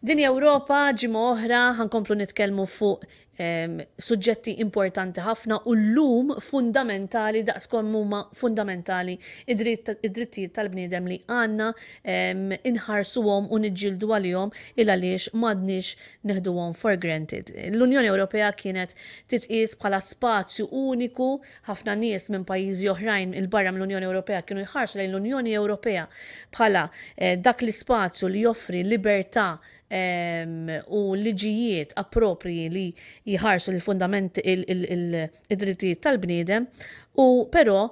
Din Ewropa ġimgħa oħra ħankomplu nitkellmu fuq ehm, suġġetti importanti ħafna u llum fundamentali daqs kemm huma fundamentali id-drittijiet tal-bniedem li għandna ehm, inħarsuhom u niġġieldu għalihom il għaliex m'għadniex neħduhom for granted. L-Unjoni Ewropea kienet titqies bħala spazju uniku, ħafna nies minn pajjiżi oħrajn 'il barra mill-Unjoni Ewropea kienu jħarsu lejn l-Unjoni Ewropea bħala eh, dak l-ispazju li joffri libertà ehm, u liġijiet approprji li jħarsu l-fundament id-drittijiet tal-bniedem u però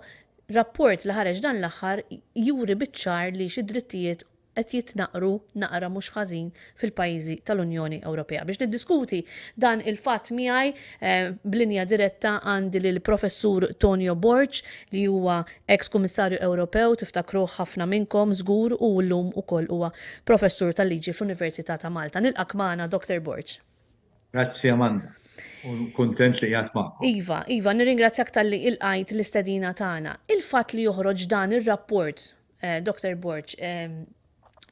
rapport li ħareġ dan l-aħħar juri biċ-ċar li xi drittijiet qed jitnaqqru naqra mhux ħażin fil-pajjiżi tal-Unjoni Ewropea. Biex niddiskuti dan il-fatt miegħi eh, b'linja diretta għandi lil Professur Tonio Borg li huwa ex Kummissarju Ewropew tiftakruh ħafna minnkom żgur u llum ukoll huwa professur tal-liġi fl-Università ta' Malta. Nilqak magħna Dr. Borg. Grazzi Amanda. U kuntent li qiegħed magħkom. Iva, Iva, nirringrazzjak talli ilqajt l-istedina tagħna. Il-fatt li joħroġ dan ir-rapport Eh, Dr. Borg, ehm,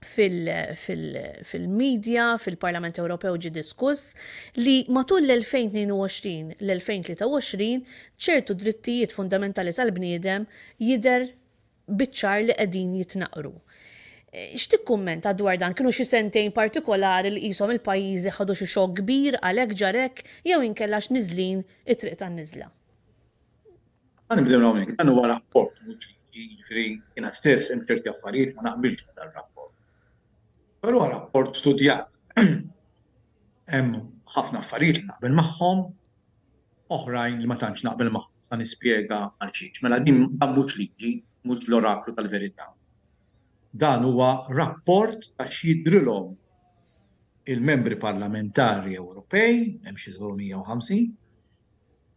fil-media, fil-Parlament Ewropew ġi diskuss li matul l-2022 l-2023 ċertu drittijiet fundamentali tal-bniedem jidher biċ-ċar li qegħdin jitnaqru. Eh, x'tikkummenta dwar dan? Kienu xi sentejn partikolari li qishom il-pajjiżi ħadu xi xokk kbir għalhekk ġarek jew inkella x'niżlin it-triq tan-niżla? Ħa nibdew hawnhekk, dan huwa rapport mhux liġi, jiġifieri jiena stess hemm ċerti affarijiet ma naqbilx ma' dan rapport. Però huwa rapport studjat. Hemm ħafna affarijiet li naqbel magħhom, oħrajn li ma tantx naqbel magħhom. Sa nispjega għal xiex. Mela din dan mhux liġi, mhux l-oraklu tal-verità. Dan huwa rapport ta' x'jidhrilhom il-membri parlamentari Ewropej, hemm xi 750,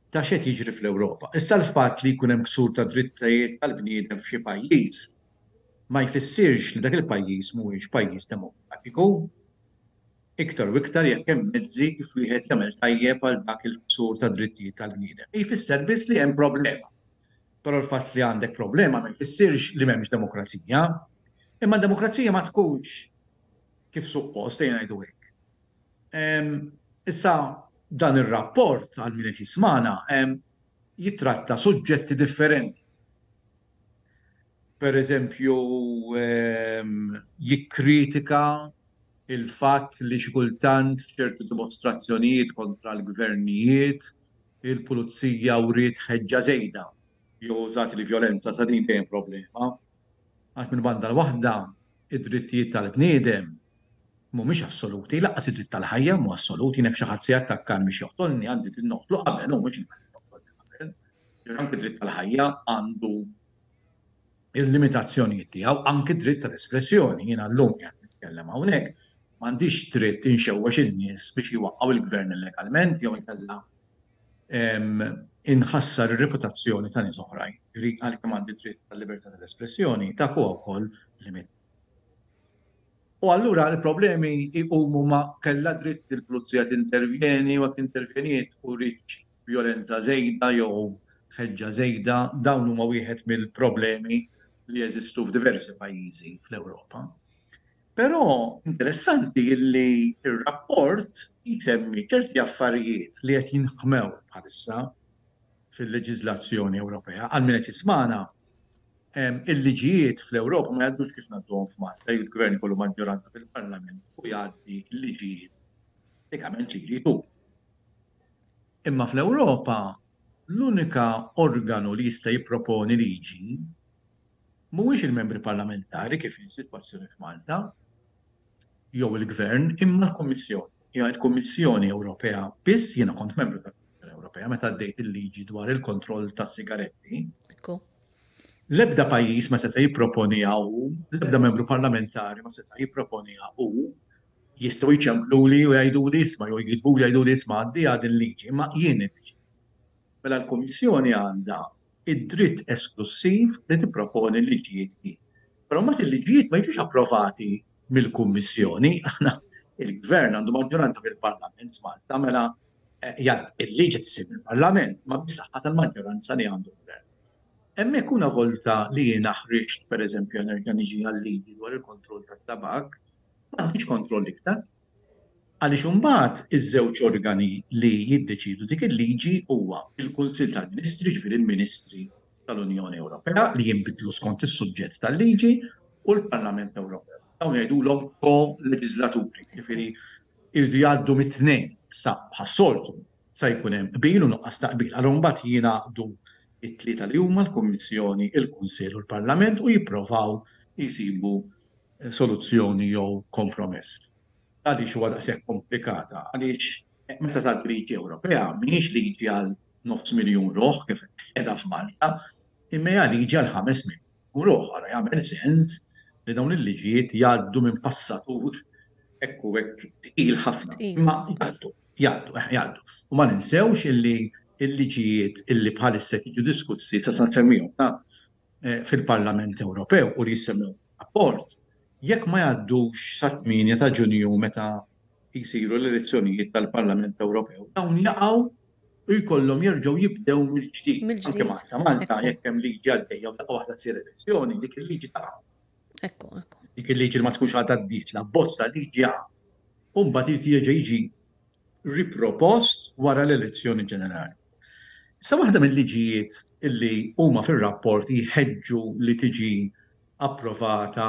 ta' x'qed jiġri fl-Ewropa. Issa l-fatt li jkun hemm ksur ta' drittijiet tal-bniedem f'xi pajjiż ma jfissirx li dak il-pajjiż mhuwiex pajjiż demokratiku. Iktar u iktar jekk hemm mezzi kif wieħed jagħmel tajjeb għal dak il-ksur ta' drittijiet tal-bniedem. Jfisser biss li hemm problema. Però l-fatt li għandek problema ma jfissirx li m'hemmx demokrazija. Imma d-demokrazija ma tkunx kif suppost, ejja ngħidu hekk. Issa dan ir-rapport għal min qed jismagħna jittratta suġġetti differenti. Per eżempju, jikkritika il-fatt li xi kultant f'ċertu dimostrazzjonijiet kontra l-gvernijiet il-pulizija wriet ħeġġa żejda jew użat il-vjolenza sa din dejjem problema. Għax minn banda l-waħda id-drittijiet tal-bniedem mhumiex assoluti, lanqas id-dritt tal-ħajja mhu assolut, jien jekk xi ħadd se jattakkani biex joqtolni għandi dritt noqtlu qabel u mhux inħalli joqtolni qabel. Ġifieri anke d-dritt tal-ħajja għandu il-limitazzjonijiet tiegħu, anke d-dritt tal-espressjoni. Jiena llum qiegħed nitkellem hawnhekk, m'għandix dritt inxewwex in-nies biex jwaqqgħu il-gvern illegalment jew inkella inħassar ir-reputazzjoni ta' nies oħrajn. Ġifieri għalkemm għandi dritt tal-libertà tal-espressjoni, dak huwa wkoll limit. U allura l-problemi jqumu ma kellha dritt il-pulizija tintervjeni u jekk intervjeniet urietx vjolenza żejda jew ħeġġa żejda, dawn huma wieħed mill-problemi li jeżistu f'diversi pajjiżi fl-Ewropa. Però interessanti li r-rapport jsemmi ċerti affarijiet li qed jinħmew bħalissa fil-leġiżlazzjoni Ewropea. Għal min qed jismagħna, il-liġijiet fl-Ewropa ma jgħaddux kif ngħadduhom f'Malta, il-gvern ikollu maġġoranza fil-Parlament u jgħaddi l-liġijiet pratikament li jrid hu. Imma fl-Ewropa l-unika organu li jista' jipproponi liġi mhuwiex il-membri parlamentari kif hi s-sitwazzjoni f'Malta jew il-gvern imma l-Kummissjoni. Hija l-Kummissjoni Ewropea biss, jiena kont membru tal-Kummissjoni Ewropea meta għaddejt il-liġi dwar il-kontroll tas-sigaretti. L-ebda pajjiż ma seta' jipproponiha hu, l-ebda membru parlamentari ma seta' jipproponiha hu, jistgħu jċempluli u jgħiduli isma' jew jiktbuli jgħiduli isma' għaddiha din liġi, imma jien niddeċiedi. Mela l-Kummissjoni għandha id-dritt esklussiv li tipproponi l-liġijiet hi. Però mbagħad il-liġijiet ma jiġux approvati mill-Kummissjoni, aħna il-Gvern għandu maġġoranza fil-Parlament f'Malta, mela eh, il-liġi tisir mill-Parlament, ma bis-saħħa tal-maġġoranza li għandu l-Gvern. Hemmhekk una volta li jiena ħriġt pereżempju nerġa' niġi għal-liġi dwar il-kontroll tat-tabak, m'għandix kontroll iktar. Għaliex imbagħad iż-żewġ organi li jiddeċiedu dik il-liġi huwa l-Kunsill tal-Ministri, jiġifieri l-Ministri tal-Unjoni Ewropea li jinbidlu skont is-suġġett tal-liġi, u l-Parlament Ewropew. Dawn jgħidulhom ko-leġiżlaturi, jiġifieri jridu jgħaddu mit-tnejn. Issa bħas-soltu sa jkun hemm qbil u nuqqas ta' qbil. Allura mbagħad jingħaqdu t-tlieta li huma l-Kummissjoni, il-Kunsill u l-Parlament u jipprovaw jsibu soluzzjoni jew kompromess. Għaliex huwa daqshekk komplikata? Għaliex meta tgħaddi liġi Ewropea mhijiex liġi għal nofs miljun ruħ kif qiegħda f'Malta, imma hija liġi għal 5 miljun ruħ. Ara jagħmel sens li dawn il-liġijiet jgħaddu minn passatur hekk u hekk tqil ħafna. Imma jgħaddu, jgħaddu, eh, jgħaddu. U ma ninsewx illi il-liġijiet illi bħalissa jiġu diskussi sa nsemmihom ta' eh, fil-Parlament Ewropew u li jissemmew rapport, jekk ma jgħaddux sa' 8 ta' Ġunju meta jsiru l-elezzjonijiet tal-Parlament Ewropew, dawn jaqgħu u jkollhom jerġgħu jibdew mill-ġdid. Anke Malta, Malta jekk hemm liġi għaddejja u f'daqqa waħda tsir elezzjoni, dik il-liġi taqa'. Ekku, ekku. Dik il-liġi li ma tkunx għadha għaddiet, l-abbozz ta' liġi jaqa'. U mbagħad irid jerġa' jiġi ripropost wara l-elezzjoni ġenerali. Issa waħda mill-liġijiet illi huma fir-rapport jħeġġu li tiġi approvata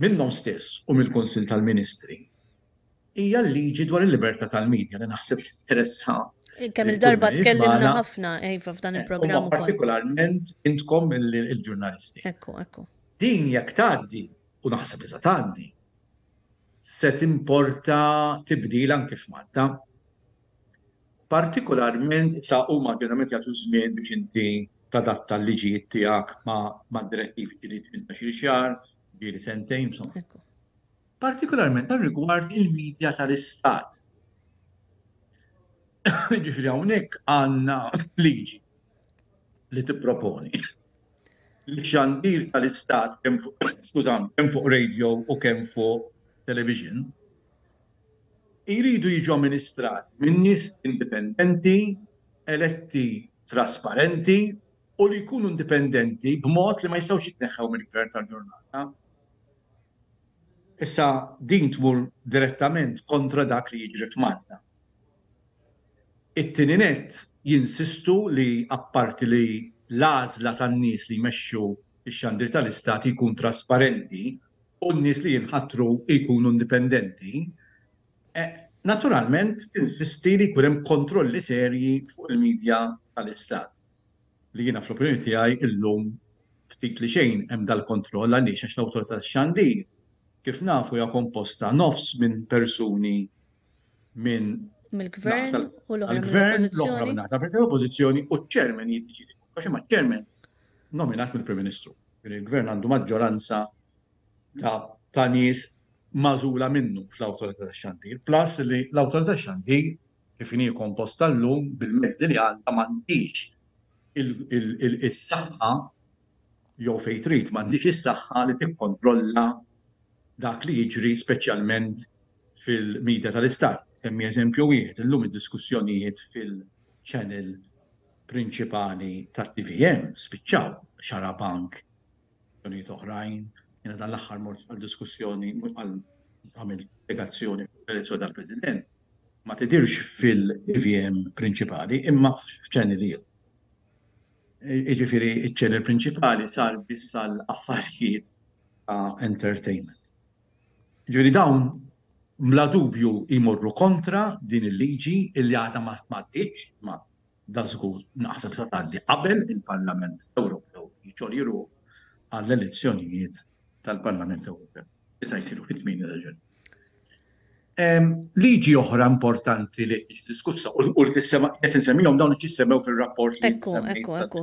minnhom stess u mill-Kunsill tal-Ministri hija l-liġi dwar il-libertà tal-medja li naħseb tinteressa. Kemm il-darba tkellimna ħafna iva f'dan eh, il-programm. Partikolarment intkom il-ġurnalisti. Ekku, ekku. Din jekk tgħaddi u naħseb li se tgħaddi, se timporta tibdil anke f'Malta. Partikolarment sa huma ġeneralment jagħtu żmien biex inti tadatta l-liġijiet tiegħek ma' direttivi ġieli 18 xahar, ġieli sentejn, insomma. Partikolarment għal rigward il-medja tal-istat. Ġifieri hawnhekk għandna liġi li tipproponi li xandir tal-istat kemm fuq skużani, kemm fuq radio u kemm fuq television jridu jiġu amministrati minn nies indipendenti, eletti trasparenti u li jkunu indipendenti b'mod li ma jistgħux jitneħħew mill-gvern tal-ġurnata. Issa din tmur direttament kontra dak li jiġri f'Malta. It-tieni nett jinsistu li apparti li l-għażla tan-nies li jmexxu x-xandir tal-Istat jkun trasparenti u n-nies li jinħatru jkunu indipendenti, naturalment tinsisti li jkun hemm kontrolli serji fuq il-media tal-Istat. Li jiena fl-opinjoni tiegħi illum ftit li xejn hemm dal-kontroll għaliex għax l-Awtorità tax-Xandir kif nafu hija komposta nofs minn persuni minn mill-gvern u l-oħra gvern l-oħra minn naħa tal-oppożizzjoni u ċ-chairman jiddeċiedi kollox imma ċ-chairman nominat mill-Prim Ministru. Il-gvern għandu maġġoranza ta' ta' nies magħżula minnu fl-Awtorità tax-Xandir, plus li l-Awtorità tax-Xandir kif inhi komposta llum bil-mezzi li għandha m'għandix is-saħħa jew fejn trid m'għandix is-saħħa li tikkontrolla dak li jiġri speċjalment fil-media tal-Istat. Semmi eżempju wieħed, illum id-diskussjonijiet fil-channel prinċipali tat-TVM spiċċaw Xarabank, diskussjonijiet oħrajn. Jiena dan l-aħħar mort għal diskussjoni għal għamil spjegazzjoni fuq l-elezzjoni tal-President. Ma tidirx fil-TVM prinċipali imma f'channel ieħor. Jiġifieri ċ-channel prinċipali sar biss għal affarijiet ta' entertainment. Ġifieri dawn bla dubju jmorru kontra din il-liġi illi għadha ma tgħadditx, ma da żgur naħseb se tgħaddi qabel il-Parlament Ewropew jixgħol ruħu għall-elezzjonijiet tal-Parlament Ewropew li se jsiru fit-8 ta' Ġunju. Liġi oħra importanti li tiġi diskussa u li tissema qed insemmihom dawn li jissemmew fir-rapport li Ekku, ekku, ekku.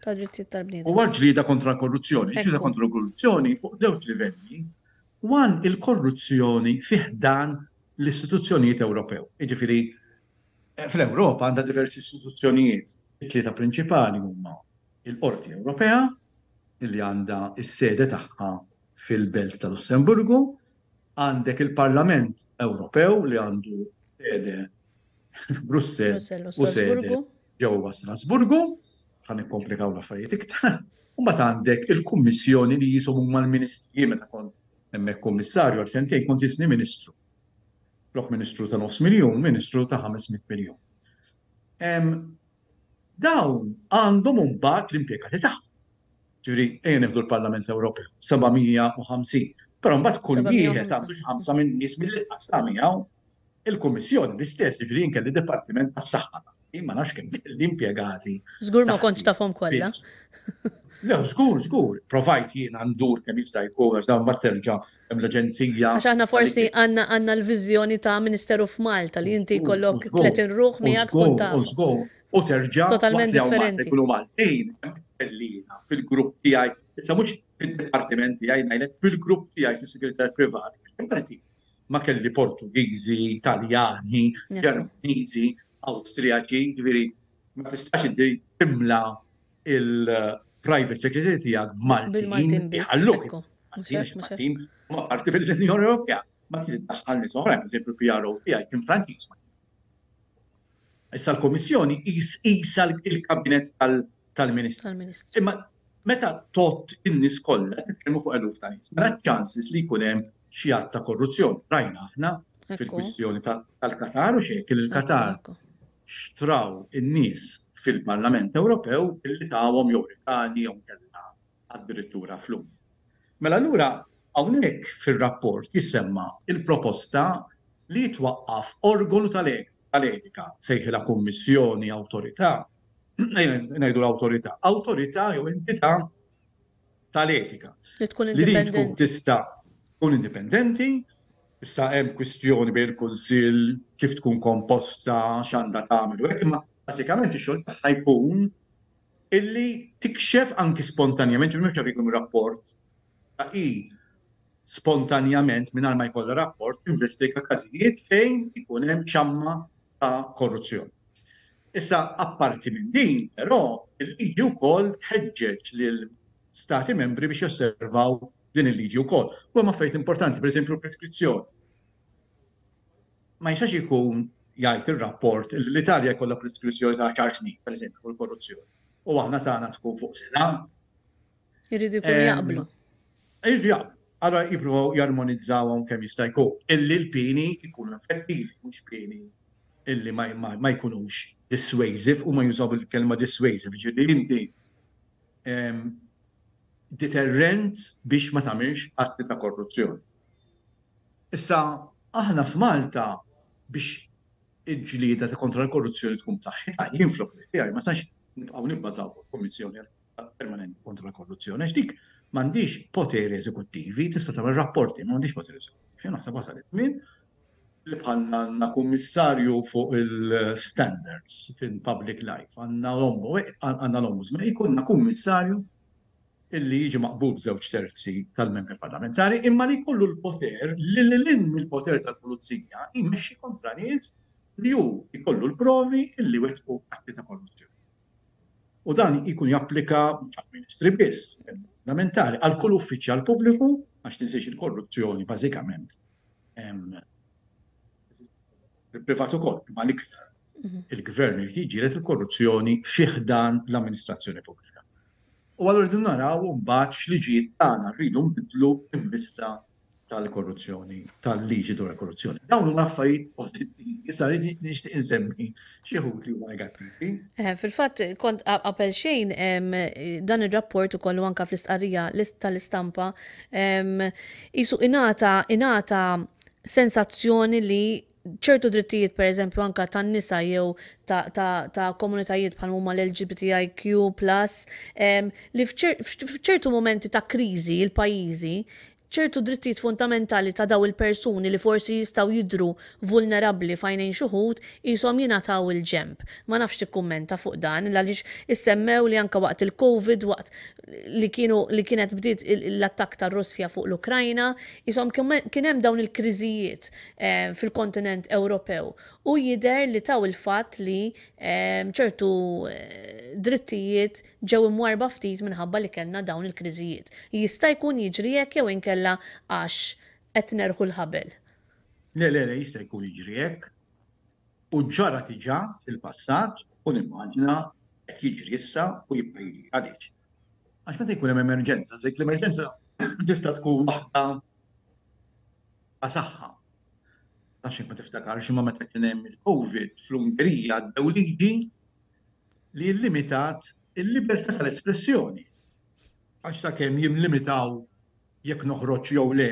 Ta' drittijiet tal-bniedem. Huwa ġlieda kontra l-korruzzjoni. Ġlieda kontra l-korruzzjoni fuq żewġ livelli. One, il-korruzzjoni fi ħdan l-istituzzjonijiet Ewropew. Jiġifieri fl-Ewropa għandha diversi istituzzjonijiet. It-tlieta prinċipali huma il-Qorti Ewropea, li għandha s-sede tagħha fil-Belt ta' Lussemburgu, għandek il-Parlament Ewropew li għandu sede Brussell u sede ġewwa Strasburgu, ħa nikkomplikaw l-affarijiet iktar. U mbagħad għandek il-Kummissjoni li jisom huma l-Ministri meta kont hemmhekk kummissarju għal sentejn kont jisni Ministru. Flok ministru ta' nofs miljun, ministru ta' 500 miljun. Dawn għandhom imbagħad l-impjegati tagħhom. Ġifieri, ejja nieħdu l-Parlament Ewropew, 750. Però mbagħad kull wieħed għandu xi ħamsa minn nies mill-inqas ta' miegħu. Il-Kummissjoni l-istess, ġifieri jien kelli dipartiment tas-saħħa taħti, ma nafx kemm kelli impjegati. Żgur ma kontx tafhom kollha. Le, żgur, żgur. Provajt jiena ndur kemm jista' jkun għax dawn mbagħad terġa' hemm l-aġenzija. Għax aħna forsi għandna għandna l-viżjoni ta' Ministeru f'Malta li inti jkollok 30 ruħ miegħek tkun taf. Żgur, u terġa' totalment differenti. Ikunu Maltin, kellina fil-grupp tiegħi, issa mhux fid-dipartiment tiegħi ngħidlek fil-grupp tiegħi fis-segretar privat, Maltin. Ma kelli Portugiżi, Taljani, Ġermaniżi, Awstrijaċi, ġifieri ma tistax inti timla il-private secretary tiegħek b'Maltin. Ħalluk. Maltin ma parti mill-Unjoni Ewropea. Ma trid iddaħħal nies oħrajn, pereżempju PRO tiegħi kien Franċiż. Issa l-Kummissjoni qisha l-kabinet tal-Ministri. Imma meta tgħodd in-nies kollha, qed nitkellmu fuq eluf ta' nies, mela ċ-chances li jkun hemm xi att ta' korruzzjoni. Rajna aħna fil-kwistjoni tal-Qatar u xejn il-Qatar xtraw in-nies fil-Parlament Ewropew billi tawhom jew rigali jew inkella addirittura flus. Mela allura hawnhekk fir-rapport jissemma l-proposta li jitwaqqaf organu tal-etika, sejħilha kummissjoni, awtorità, ngħidu l-awtorità, awtorità jew entità tal-etika. Li tkun indipendenti. Li tkun tista' tkun indipendenti, issa hemm kwistjoni bejn il-Kunsill kif tkun komposta, x'għandha tagħmel u hekk, imma bażikament ix-xogħol tagħha jkun illi tikxef anki spontanjament, ġifieri mhux ikun rapport, ta' hi spontanjament mingħajr ma jkollha rapport tinvestiga każijiet fejn ikun hemm ċamma ta' korruzzjoni. Issa apparti minn din, però, il-liġi wkoll tħeġġeġ lil stati membri biex josservaw din il-liġi wkoll. U hemm affarijiet importanti, pereżempju l-preskrizzjoni. Ma jistax ikun jgħid ir-rapport li l-Italja jkollha preskrizzjoni ta' 10 snin, pereżempju, fuq il-korruzzjoni. U aħna tagħna tkun fuq sena. Irridu jkunu jaqblu. Irridu jaqblu. Allora jippruvaw jarmonizzawhom kemm jista' jkun. Illi l-pieni jkunu effettivi, mhux pieni illi ma, ma, ma jkunux dissuasive, u ma jużaw il-kelma dissuasive, ġifieri inti deterrent biex ma tagħmilx atti ta' korruzzjoni. Issa aħna f'Malta biex il-ġlieda ta' kontra l-korruzzjoni tkun b'saħħitha, jien fl-opinjoni tiegħi ma tistax nibqgħu nibbażaw fuq il-Kummissjoni Permanenti kontra l-Korruzzjoni għax dik m'għandhiex poteri eżekuttivi, tista' tagħmel rapporti, ma m'għandhiex poteri eżekuttivi. Jien naħseb wasal iż-żmien li bħalna għandna kummissarju fuq il-standards fil-public life, għandna l-ombudsman, jkollna kummissarju illi jiġi maqbul b'żewġ terzi tal-membri parlamentari, imma li jkollu l-poter li lil hinn mill-poter tal-pulizija jmexxi kontra nies li hu jkollu l-provi illi wettqu atti ta' korruzzjoni. U dan jkun japplika mhux għall-ministri biss, parlamentari, għal kull uffiċjal pubbliku, għax tinsiex il-korruzzjoni bażikament il-privat ukoll, imma l-iktar mhm. il-gvern irid jiġġieled il-korruzzjoni fi ħdan l-amministrazzjoni pubblika. U allura rridu naraw mbagħad x'liġijiet tagħna rridu nbidlu in vista tal-korruzzjoni, tal-liġi dwar il-korruzzjoni. Dawn huma affarijiet pożittivi, issa rrid nixtieq insemmi xi wħud li huma negattivi. Eh, fil-fatt, kont qabel xejn dan ir-rapport ukoll u anka fl-istqarrija tal-istampa qisu ingħata ingħata sensazzjoni li ċertu drittijiet per eżempju anka tan-nisa jew ta', ta, ta komunitajiet bħal huma l-LGBTIQ+, li f'ċertu momenti ta' kriżi il-pajjiżi ċertu drittijiet fundamentali ta' daw il-persuni li forsi jistgħu jidhru vulnerabbli f'għajnejn xi wħud qishom jingħataw il-ġenb. Ma nafx tikkummenta fuq dan għaliex issemmew li anke waqt il-Covid waqt li kienu li kienet bdiet l-attakk tar-Russja fuq l-Ukrajna, qishom kien hemm dawn il-kriżijiet eh, fil-kontinent Ewropew u jidher li taw il-fatt li eh, ċertu eh, drittijiet ġew imwarrba ftit minħabba li kellna dawn il-kriżijiet. Jista' jkun jiġri hekk jew inkella għax qed nerħu l-ħabel? Le, le, le, jista' jkun jiġri hekk. U ġara diġà fil-passat u nimmaġina qed jiġri issa u jibqa' jiġri. Għaliex? Għax meta jkun hemm emerġenza, dik l-emerġenza tista' tkun waħda ta' saħħa. Nafx jekk ma tiftakarx imma meta kien hemm il-Covid fl-Ungerija għaddew liġi li llimitat il-libertà tal-espressjoni. Għax sakemm jimlimitaw jekk noħroġ jew le,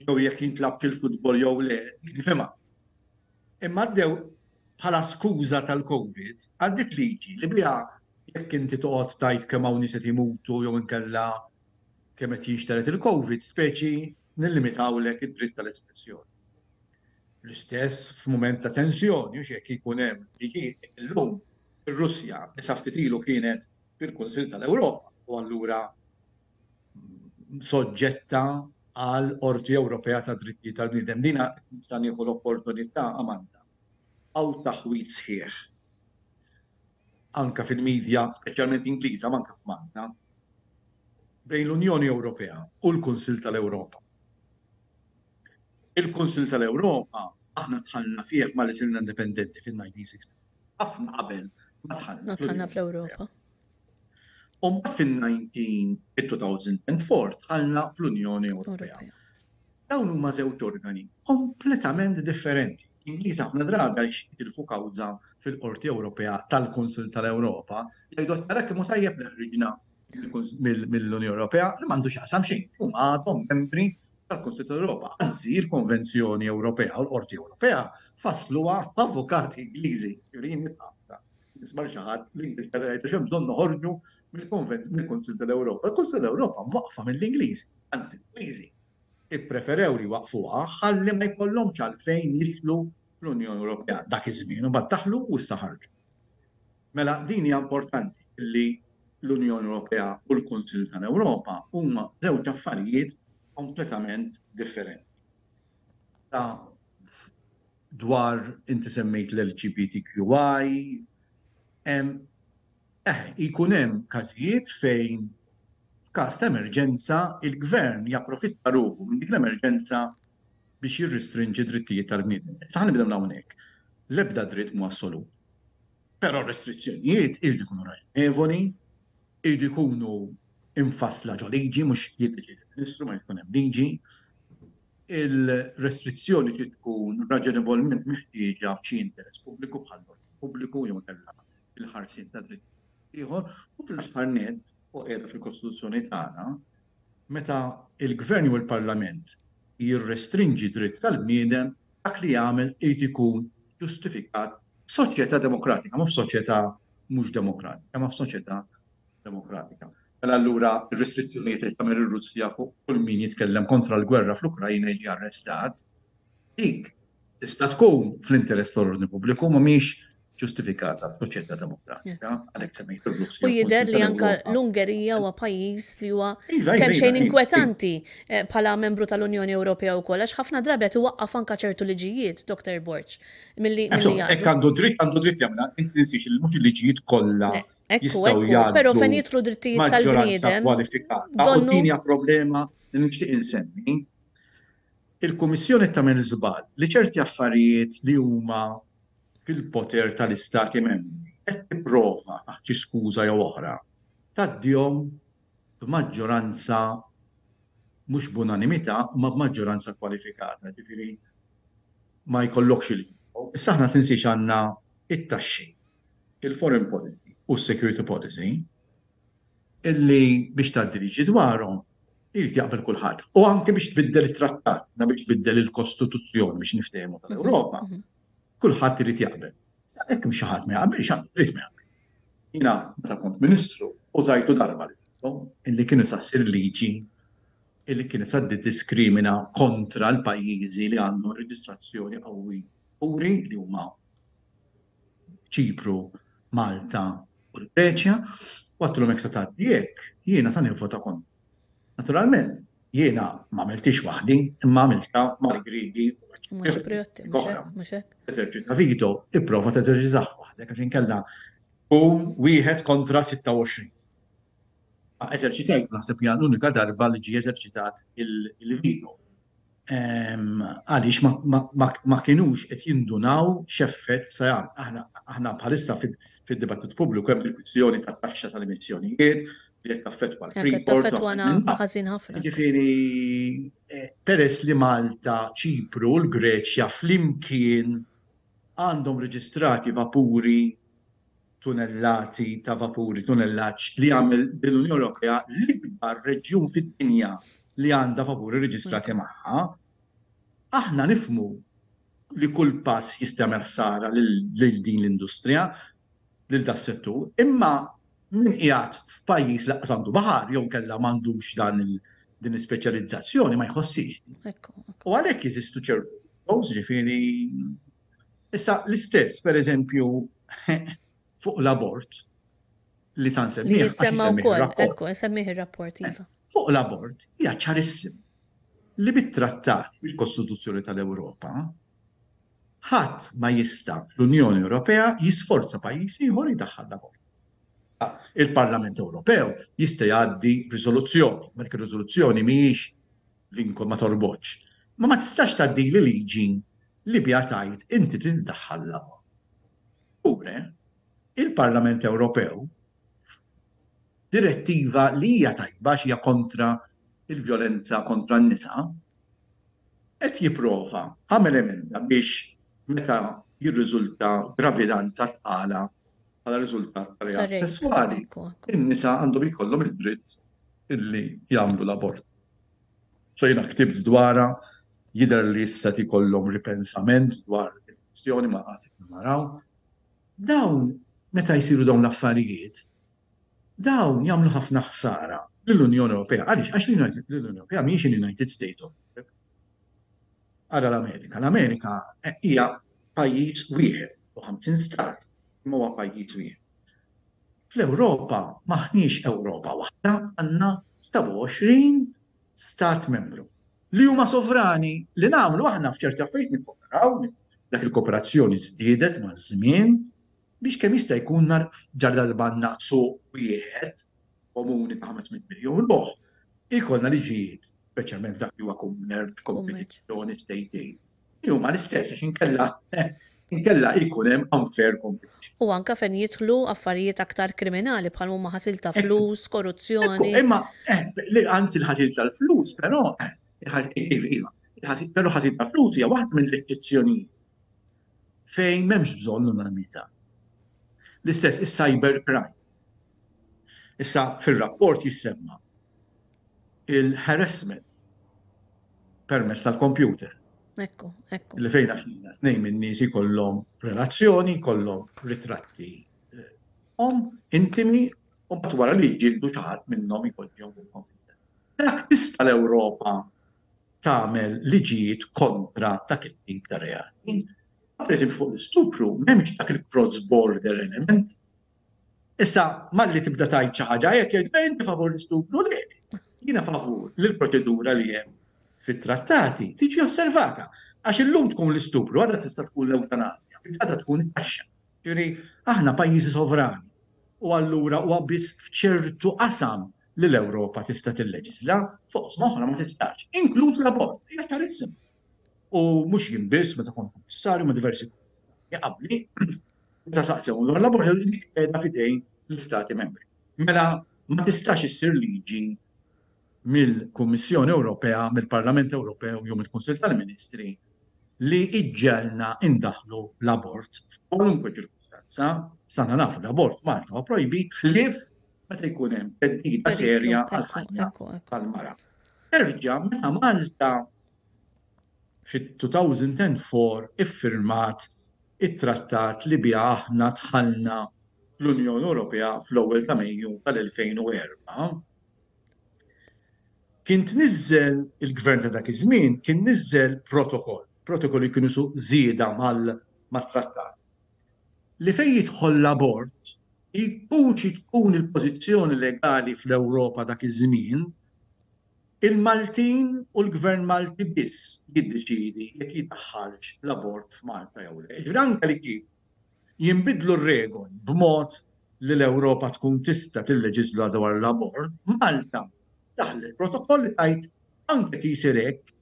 jew jekk jintlabx il-futbol jew le, dik nifhimha. Imma għaddew bħala skuża tal-Covid, għaddiet liġi li biha jekk inti toqgħod tgħid kemm hawn nies qed imutu jew inkella kemm qed jinxtered il-Covid, speċi nillimitawlek id-dritt tal-espressjoni. L-istess f'mument ta' tensjoni, hux jekk jkun hemm liġijiet illum ir-Russja li sa ftit ilu kienet fil-Kunsill tal-Ewropa u allura soġġetta għal Qorti Ewropea ta' Drittijiet tal-Bniedem. Dina nista' nieħu l-opportunità, Amanda, hawn taħwid sħiħ anke fil-media, speċjalment Ingliża, ma anke f'Malta, bejn l-Unjoni Ewropea u l-Kunsill tal-Ewropa. Il-Kunsill tal-Ewropa aħna dħalna fih malli sirna indipendenti fil-1964, ħafna qabel ma dħalna fl-Ewropa. U mbagħad fin-2004 dħalna fl-Unjoni Ewropea. Dawn huma żewġ organi kompletament differenti. L-Ingliż ħafna drabi għaliex jitilfu kawża fil-Qorti Ewropea tal-Kunsill tal-Ewropa, jgħidu tara kemm hu tajjeb li ħriġna mill-Unjoni Ewropea li m'għandu x'jaqsam xejn. Huma għadhom membri tal-Kunsill tal-Ewropa. Anzi, il-Konvenzjoni Ewropea u l-Qorti Ewropea fassluha avukati Ingliżi. Nisma' xi ħadd l-Ingilterra jgħid għax hemm bżonn noħorġu mill-Kunsill tal-Ewropa. Il-Kunsill tal-Ewropa mwaqqfa mill-Ingliżi, anzi l-Ingliżi ippreferew li jwaqqfuha ħalli ma jkollhomx għalfejn jidħlu fl-Unjoni Ewropea dak iż-żmien u mbagħad daħlu u issa ħarġu. Mela din hija importanti li l-Unjoni Ewropea u l-Kunsill tal-Ewropa huma żewġ affarijiet kompletament differenti. Ta' dwar inti semmejt l-LGBTQI, eh, jkun hemm każijiet fejn f'każ ta' emerġenza il-gvern japprofitta ruħu minn dik l-emerġenza biex jirristrinġi drittijiet tal-bniedem. Issa ħa nibda minn hawnhekk. L-ebda dritt mhu assolut. Però r-restrizzjonijiet iridu jkunu raġonevoli, iridu jkunu imfassla ġo liġi, mhux jiddeċiedi l-Ministru ma jkun hemm liġi. Il-restrizzjoni trid tkun raġonevolment meħtieġa f'xi interess pubbliku bħal pubbliku jew inkella il-ħarsien ta' dritt ieħor u fl-aħħar nett u qiegħda fil-Kostituzzjoni tagħna meta il-Gvern jew il-Parlament jirrestrinġi dritt tal-bniedem dak li jagħmel irid ikun ġustifikat f'soċjetà demokratika, mhux f'soċjetà mhux demokratika, ma f'soċjetà demokratika. Mela allura r-restrizzjonijiet li tagħmel ir-Russja fuq kull min jitkellem kontra l-gwerra fl-Ukrajna jiġi arrestat, dik tista' tkun fl-interess tal-ordni pubbliku ma mhix ġustifikata f'soċjetà demokratika, għalhekk semmejt ir-Russja. U jidher li anka l-Ungerija huwa pajjiż li huwa iva, iva, kemm xejn iva, inkwetanti eh, bħala membru tal-Unjoni Ewropea wkoll għax ħafna drabi qed iwaqqaf anka ċertu liġijiet, Dr. Borg, milli Hekk għandu dritt għandu dritt jagħmilha, inti tinsiex li mhux il-liġijiet kollha jistgħu jgħaddu. Però fejn jidħlu drittijiet tal-bniedem. kwalifikata. U din hija problema li nixtieq insemmi. Il-Kummissjoni tagħmel żball li ċerti affarijiet li huma fil-poter tal-Istati Membri qed tipprova taħt xi skuża jew oħra tgħaddihom b'maġġoranza mhux b'unanimità imma b'maġġoranza kwalifikata, ġifieri ma jkollokx il Issa aħna tinsiex għandna it-taxxi, il-foreign policy u s-security policy illi biex tgħaddi liġi dwarhom irid jaqbel kulħadd. U anke biex tbiddel it-trattat, na biex tbiddel il-Kostituzzjoni biex niftehmu tal-Ewropa, kulħadd irid jaqbel. Sa hekk xi ħadd ma jaqbilx, għandu dritt ma jaqbel. Jiena meta kont Ministru użajtu darba li illi kienu sa ssir liġi illi kienet sa tiddiskrimina kontra l-pajjiżi li għandhom reġistrazzjoni qawwi puri li huma Ċipru, Malta u l-Greċja, u għedtilhom jekk se tgħaddi hekk, jiena sa nivvota kontra. Naturalment, jiena ma għamiltix waħdi, imma għamiltha mal-Griegi u maċ-Ċipriotti oħra. Eżerċita veto, ipprova teżerċitah waħdek għax inkella tkun wieħed kontra 26. Eżerċitajt naħseb hija l-unika darba li ġie eżerċitat il-veto. Għaliex ma kinux qed jindunaw x'effett se jagħmel. Aħna bħalissa fid-dibattitu pubbliku hemm il-kwistjoni tat-taxxa tal-emissjonijiet, Li qed taffettwa l-Freeport. Taffettwana ħażin ħafna. Ġifieri peress li Malta, Ċipru u l-Greċja flimkien għandhom reġistrati vapuri tunellati ta' vapuri, tunellaġġ li jagħmel l-Unjoni Ewropea l-ikbar reġjun fid-dinja li għandha vapuri reġistrati magħha, aħna nifhmu li kull pass jista' jagħmel ħsara lil din l-industrija, lil das-settur, imma min qiegħed f'pajjiż li lanqas għandu baħar jew inkella m'għandux dan din l-ispeċjalizzazzjoni ma jħossix din. U għalhekk jeżistu ċertu ġifieri issa l-istess pereżempju fuq l-abort li sa nsemmih. Jissemma wkoll, ekku, nsemmih ir-rapport iva. Fuq l-abort hija ċarissim li bit-trattat bil-Kostituzzjoni tal-Ewropa ħadd ma jista' fl-Unjoni Ewropea jisforza pajjiż ieħor jdaħħal l-abort. Il-Parlament Ewropew jista' jgħaddi riżoluzzjoni, ma dik ir-riżoluzzjoni mhijiex vinkol ma torbotx. Ma ma tistax tgħaddili liġi li biha tgħid inti trid iddaħħal l-abort. Pure, il-Parlament Ewropew direttiva li hija tajba għax hija kontra il-vjolenza kontra n-nisa, qed jipprova għamel emenda biex meta jirriżulta gravidanza tqala bħala riżultat ta' reat sesswali, in-nisa għandhom ikollhom id-dritt illi jagħmlu l-abort. So jiena ktibt dwarha, jidher li issa qed ikollhom ripensament dwar il-kwistjoni ma għad naraw. Dawn meta jsiru dawn l-affarijiet, dawn jagħmlu ħafna ħsara lill-Unjoni Ewropea. Għaliex? Għax l-Unjoni Ewropea mhijiex il-United States of Europe. Ara l-Amerika. L-Amerika hija pajjiż wieħed u 50 stat, imma huwa pajjiż wieħed. Fl-Ewropa m'aħniex Ewropa waħda, għandna 27 stat membru li huma sovrani li nagħmlu aħna f'ċerti affarijiet nikkooperaw, dak il-kooperazzjoni żdiedet maż-żmien biex kemm jista' jkun nar ġar darba għandna suq wieħed komuni ta' 500 miljun ruħ, ikollna liġijiet, speċjalment dak li huwa kummerċ, kompetizzjoni, state aid, li huma l-istess għax inkella inkella jkun hemm unfair competition. U anka fejn jidħlu affarijiet aktar kriminali bħal huma ħasil ta' flus, korruzzjoni. Imma eh, anzi l-ħasil tal-flus, però eh, iva, però ħasil tal-flus hija waħda mill-eċċezzjonijiet fejn m'hemmx bżonn l-unanimità. L-istess is-cyber crime. Issa fir-rapport jissemma il-harassment permezz tal-computer. Ekku, ekku. Li fejna fina, tnejn minn nies ikollhom relazzjoni, jkollhom ritratti eh, om intimi u mbagħad wara li jġildu xi ħadd minnhom jpoġġihom fuq computer. Dak tista' l-Ewropa tagħmel liġijiet kontra dak it-tip ta' reati. Per eżempju fuq l-istupru m'hemmx dak il-cross border element. Issa malli tibda tgħid xi ħaġa hekk jgħid eh, inti favur l-istupru le. Jiena favur li l-proċedura li hemm fit-trattati tiġi osservata. Għax illum tkun l-istupru, għada tista' tkun l-ewtanasja, għada tkun it-taxxa. Ġifieri aħna pajjiżi sovrani u allura huwa biss f'ċertu qasam li l-Ewropa tista' tilleġisla, fuq oqsma oħra ma tistax, inkluż l-abort, hija ċarissima. U mhux jien biss meta kont kummissarju ma' diversi kummissarji qabli, meta saqsew dwar l-abort dik qiegħda f'idejn l-Istati Membri. Mela ma tistax issir liġi mill-Kummissjoni Ewropea, mill-Parlament Ewropew jew mill-Kunsill tal-Ministri li iġġegħelna indaħħlu l-abort f'kwalunkwe ċirkustanza. Sana nafu l-abort Malta huwa projbit ħlief meta jkun hemm theddida serja għall-ħajja tal-mara. Terġa' meta Malta fit-2004 iffirmat it-trattat li biha aħna dħalna fl-Unjoni Ewropea fl-ewwel ta' Mejju tal-2004, kien tniżżel il-gvern ta' dak iż-żmien kien niżżel protokoll, protokoll li kienu su żieda mal-trattat, li fejn jidħol l-abort, jkun xi tkun il-pożizzjoni legali fl-Ewropa dak iż-żmien, il-Maltin u l-Gvern Malti biss jiddeċiedi jekk jidaħħalx l-abort f'Malta jew le. Jiġifieri anke li kieku jinbidlu r-regoli b'mod li l-Ewropa tkun tista' tilleġiżla dwar l-abort, Malta daħlet protokoll li tgħid anke jekk jsir hekk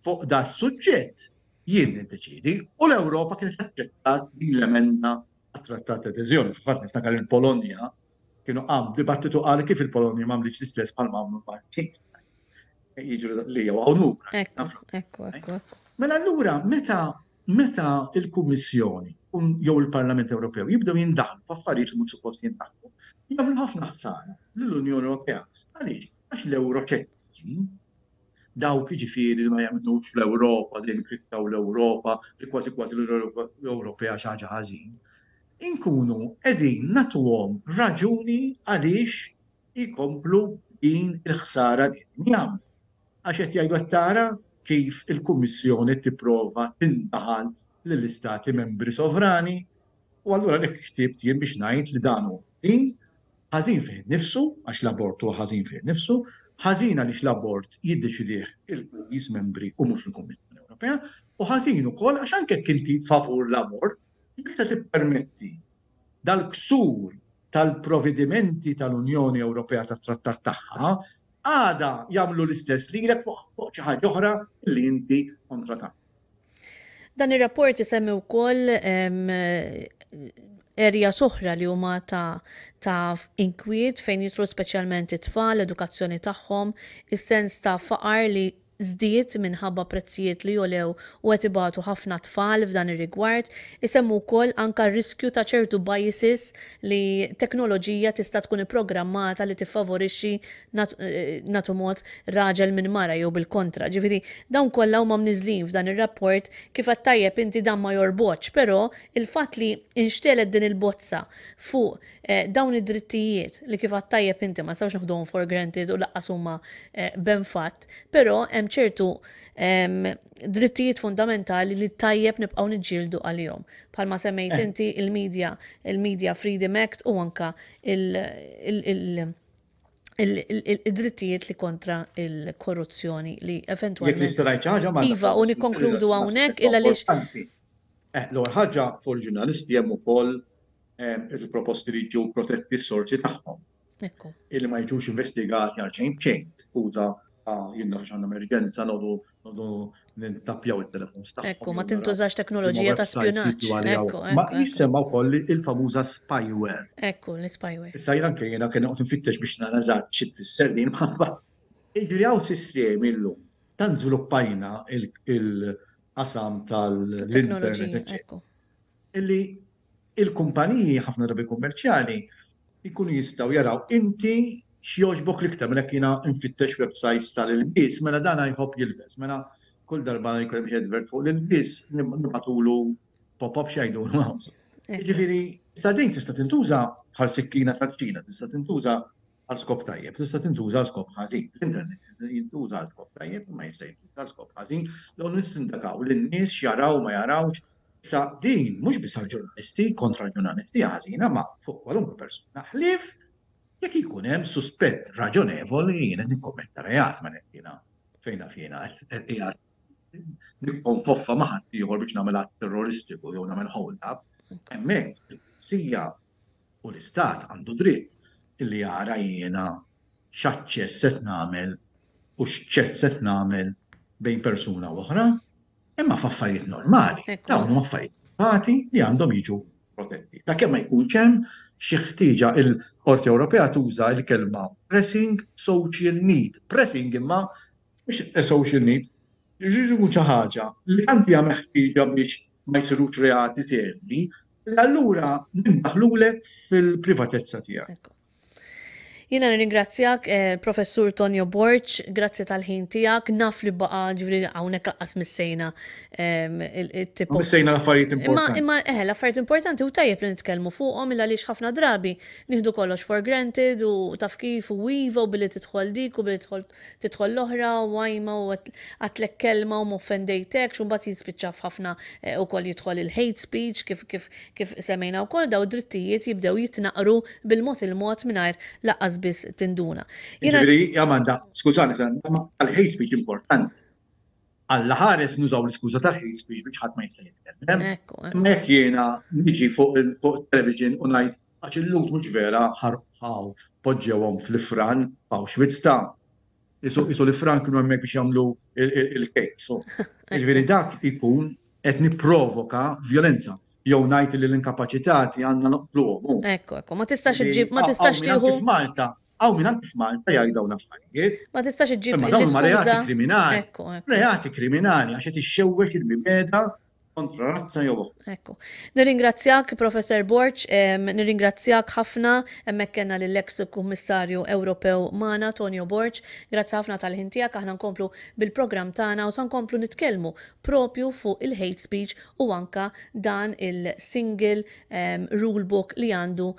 fuq das-suġġett jien niddeċiedi u l-Ewropa kienet aċċettat din l-emenda għat-Trattat ta' Adeżjoni. Fil-fatt niftakar il-Polonja. Kienu qam dibattitu qal kif il-Polonja m'għamlitx l-istess bħalma għamlu l-Maltin. Jiġri li jew hawn lura. Ekku, ekku, ekku. Mela allura meta meta il-Kummissjoni jew il-Parlament Ewropew jibdew jindaħlu f'affarijiet li mhux suppost jindaħlu, jagħmlu ħafna ħsara lill-Unjoni Ewropea. Għaliex? Għax l-Ewroċettiċi, dawk jiġifieri li ma jemmnux fl-Ewropa, dejjem jikkritikaw l-Ewropa, li kważi kważi l-Unjoni Ewropea xi ħaġa ħażin, inkunu qegħdin nagħtuhom raġuni għaliex ikomplu din il-ħsara li qegħdin jagħmlu. Għax qed jgħidu qed tara kif il-Kummissjoni qed tipprova tindaħal lill-istati membri sovrani u allura għalhekk ktibt jien biex ngħid li dan hu ħażin, ħażin fih innifsu għax l-abort huwa ħażin fih innifsu, ħażin għaliex l-abort jiddeċidih il-pajjiż membri u mhux il-Kummissjoni Ewropea, u ħażin ukoll għax anke jekk inti favur l-abort, jekk se tippermetti dal-ksur tal-providimenti tal-Unjoni Ewropea tat-trattat tagħha, għada jagħmlu l-istess lilek fuq xi ħaġa oħra li inti kontra tagħha. Dan ir-rapport isemmi wkoll erja oħra li huma ta', ta inkwiet fejn jitru speċjalment it-tfal, l-edukazzjoni tagħhom, is-sens ta' faqar li żdied minħabba prezzijiet li għolew u qed ibatu ħafna tfal f'dan ir-rigward. Isemmu wkoll anka r-riskju ta' ċertu biases li teknoloġija tista' tkun ipprogrammata li tiffavorixxi nagħtu mod raġel minn mara jew bil-kontra. Ġifieri dawn kollha huma mniżżlin f'dan ir-rapport kif għedt tajjeb inti dan ma jorbotx, però il-fatt li inxtegħlet din il-bozza fuq eh, dawn id-drittijiet li kif għedt tajjeb inti ma nistgħux noħduhom for granted u laqqas huma eh, ben fatt, però hemm ċertu drittijiet fundamentali li tajjeb nibqgħu niġġieldu għalihom. Bħalma semmejt eh. inti il-media, il-Media Freedom Act u anka il-drittijiet li kontra il-korruzzjoni li eventualment. Jekk nista' ngħid ħaġa ma. Iva, u nikkonkludu hawnhekk illa lix. Eh, l-ewwel ħaġa fuq il-ġurnalisti hemm ukoll eh, il-proposti li ġew protetti s-sorsi tagħhom. Ekku. Illi ma jiġux investigati għal xejn b'xejn. Skuża, ah, jien naf għandna emerġenza nodu nodu nintappjaw it-telefons tagħhom. Ekku, ma tintużax teknoloġija ta' spjunaġġ. Ekku, Ma jissemma wkoll il-famuża spyware. Ekku, l-spyware. Issa jien anke jiena kien noqgħod nfittex biex nara eżatt xi tfisser din ma. Jiġifieri hawn sistemi llum tant żviluppajna il-qasam tal-internet, eċċetera. Illi il-kumpaniji ħafna drabi kummerċjali jkunu jistgħu jaraw inti x'jogħġbok l-iktar mela jekk jiena nfittex websites tal-ilbies mela dan jħobb jilbes mela kull darba li jkun hemm xi advert fuq l-ilbies nibgħatulu pop-up x'jgħidulu Jiġifieri issa din tista' tintuża bħal sikkina tal-ċina, tista' tintuża għal skop tajjeb, tista' tintuża għal skop ħażin. L-internet jintuża għal skop tajjeb, imma jista' jintuża għal skop ħażin, jew nissindakaw lin-nies x'jaraw ma jarawx. Issa din mhux biss għall-ġurnalisti, kontra l-ġurnalisti hija ħażina, ma fuq kwalunkwe persuna ħlief jekk ikun hemm suspett raġonevoli li jien qed nikkommetta reat ma jiena fejn naf jiena qed qiegħed nikkonfoffa ma' ħaddieħor biex nagħmel att terroristiku jew nagħmel hold up, hemmhekk il-pulizija U l-Istat għandu dritt illi jara jiena x'aċċess qed nagħmel u x'chat qed nagħmel bejn persuna u oħra, imma f'affarijiet normali. Dawn huma affarijiet privati li għandhom jiġu protetti. Ta' kemm ma jkunx hemm xi ħtieġa il-Qorti Ewropea tuża l-kelma pressing social need. Pressing imma mhux a social need, jiġifieri jkun xi ħaġa li tant hija meħtieġa biex ma jsirux reati serji, li allura nindaħlulek fil-privatezza tiegħek. Jiena nirringrazzjak, eh, Professur Tonio Borg, grazzi tal-ħin tiegħek, naf li baqa ġifieri hawnhekk laqqas missejna ehm, it-tipo. Missejna l-affarijiet importanti. Imma eh, l-affarijiet importanti u tajjeb li nitkellmu fuqhom illa għaliex ħafna drabi nieħdu kollox for granted u taf kif u iva u billi tidħol dik u billi tidħol tidħol l-oħra u għajma u għatlek kelma u m'offendejtekx u mbagħad jispiċċa f'ħafna eh, ukoll jidħol il-hate speech kif kif kif semmejna wkoll daw drittijiet jibdew jitnaqru bil-mod il-mod mingħajr laqqas biss tinduna. Jiġifieri, Amanda, skużani, ma hate speech importanti. Alla ħares nużaw l-iskuża tal-hate speech biex ħadd ma jista' jitkellem. Imma jekk jiena niġi fuq il-television u ngħid għax il-Lhud mhux vera ħarqaw poġġewhom fl-ifran f'Auschwitz ta' isu l-ifran kienu hemmhekk biex jagħmlu il-cakes. Jiġifieri dak ikun qed nipprovoka vjolenza. jew ngħid li l-inkapaċitati għandna noqtluhom. Ekku, ekku, ma tistax iġġib, ma tistax tieħu. F'Malta, hawn minn anki f'Malta jgħid dawn l-affarijiet. Ma tistax iġġib. Imma dawn huma reati kriminali. Reati kriminali għax qed ixxewwex il-mibeda kontra razza jew oħra. Ekku. Nirringrazzjak, Professor Borg, nirringrazzjak ħafna, hemmhekk kellna lill-eks Kummissarju Ewropew magħna, Tonio Borg. Grazzi ħafna tal-ħin tiegħek, aħna nkomplu bil-programm tagħna u sa nkomplu nitkellmu propju fuq il-hate speech u anka dan il-single rule book li għandu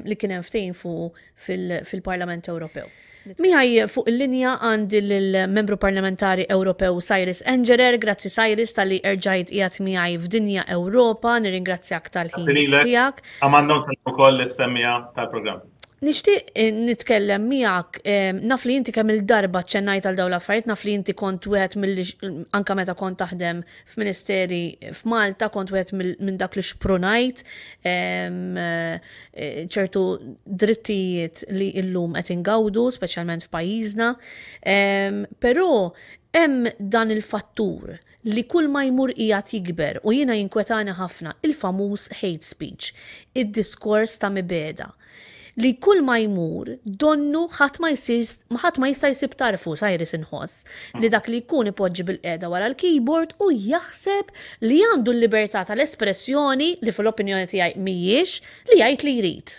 li kien hemm ftehim fuqu fil-Parlament Ewropew. Miegħi fuq il-linja għandi lill-Membru Parlamentari Ewropew Cyrus Engerer. Grazzi Cyrus talli erġajt qiegħed miegħi f'Dinja Ewropa, nirringrazzjak tal-ħin tiegħek. Amanda nsellem ukoll lis-semmiegħa tal-programm. Nixtieq nitkellem miegħek, naf li inti kemm il-darba ċċennajt għal dawn l-affarijiet, naf li inti kont wieħed mill anka meta kont taħdem f'ministeri f'Malta, kont wieħed minn dak li xprunajt ċertu drittijiet li illum qed ingawdu, speċjalment f'pajjiżna. Però hemm dan il-fattur li kull ma jmur qiegħed jikber u jiena jinkwetani ħafna, il-famuż hate speech, id-diskors ta' mibegħda. Li kull ma jmur donnu ħadd ma jsir ħadd ma jista' jsib tarfu, Cyrus inħoss, li dak li jkun ipoġġi bilqiegħda wara l-keyboard u jaħseb li għandu l-libertà tal-espressjoni, li fl-opinjoni tiegħi mhijiex, li jgħid li jrid.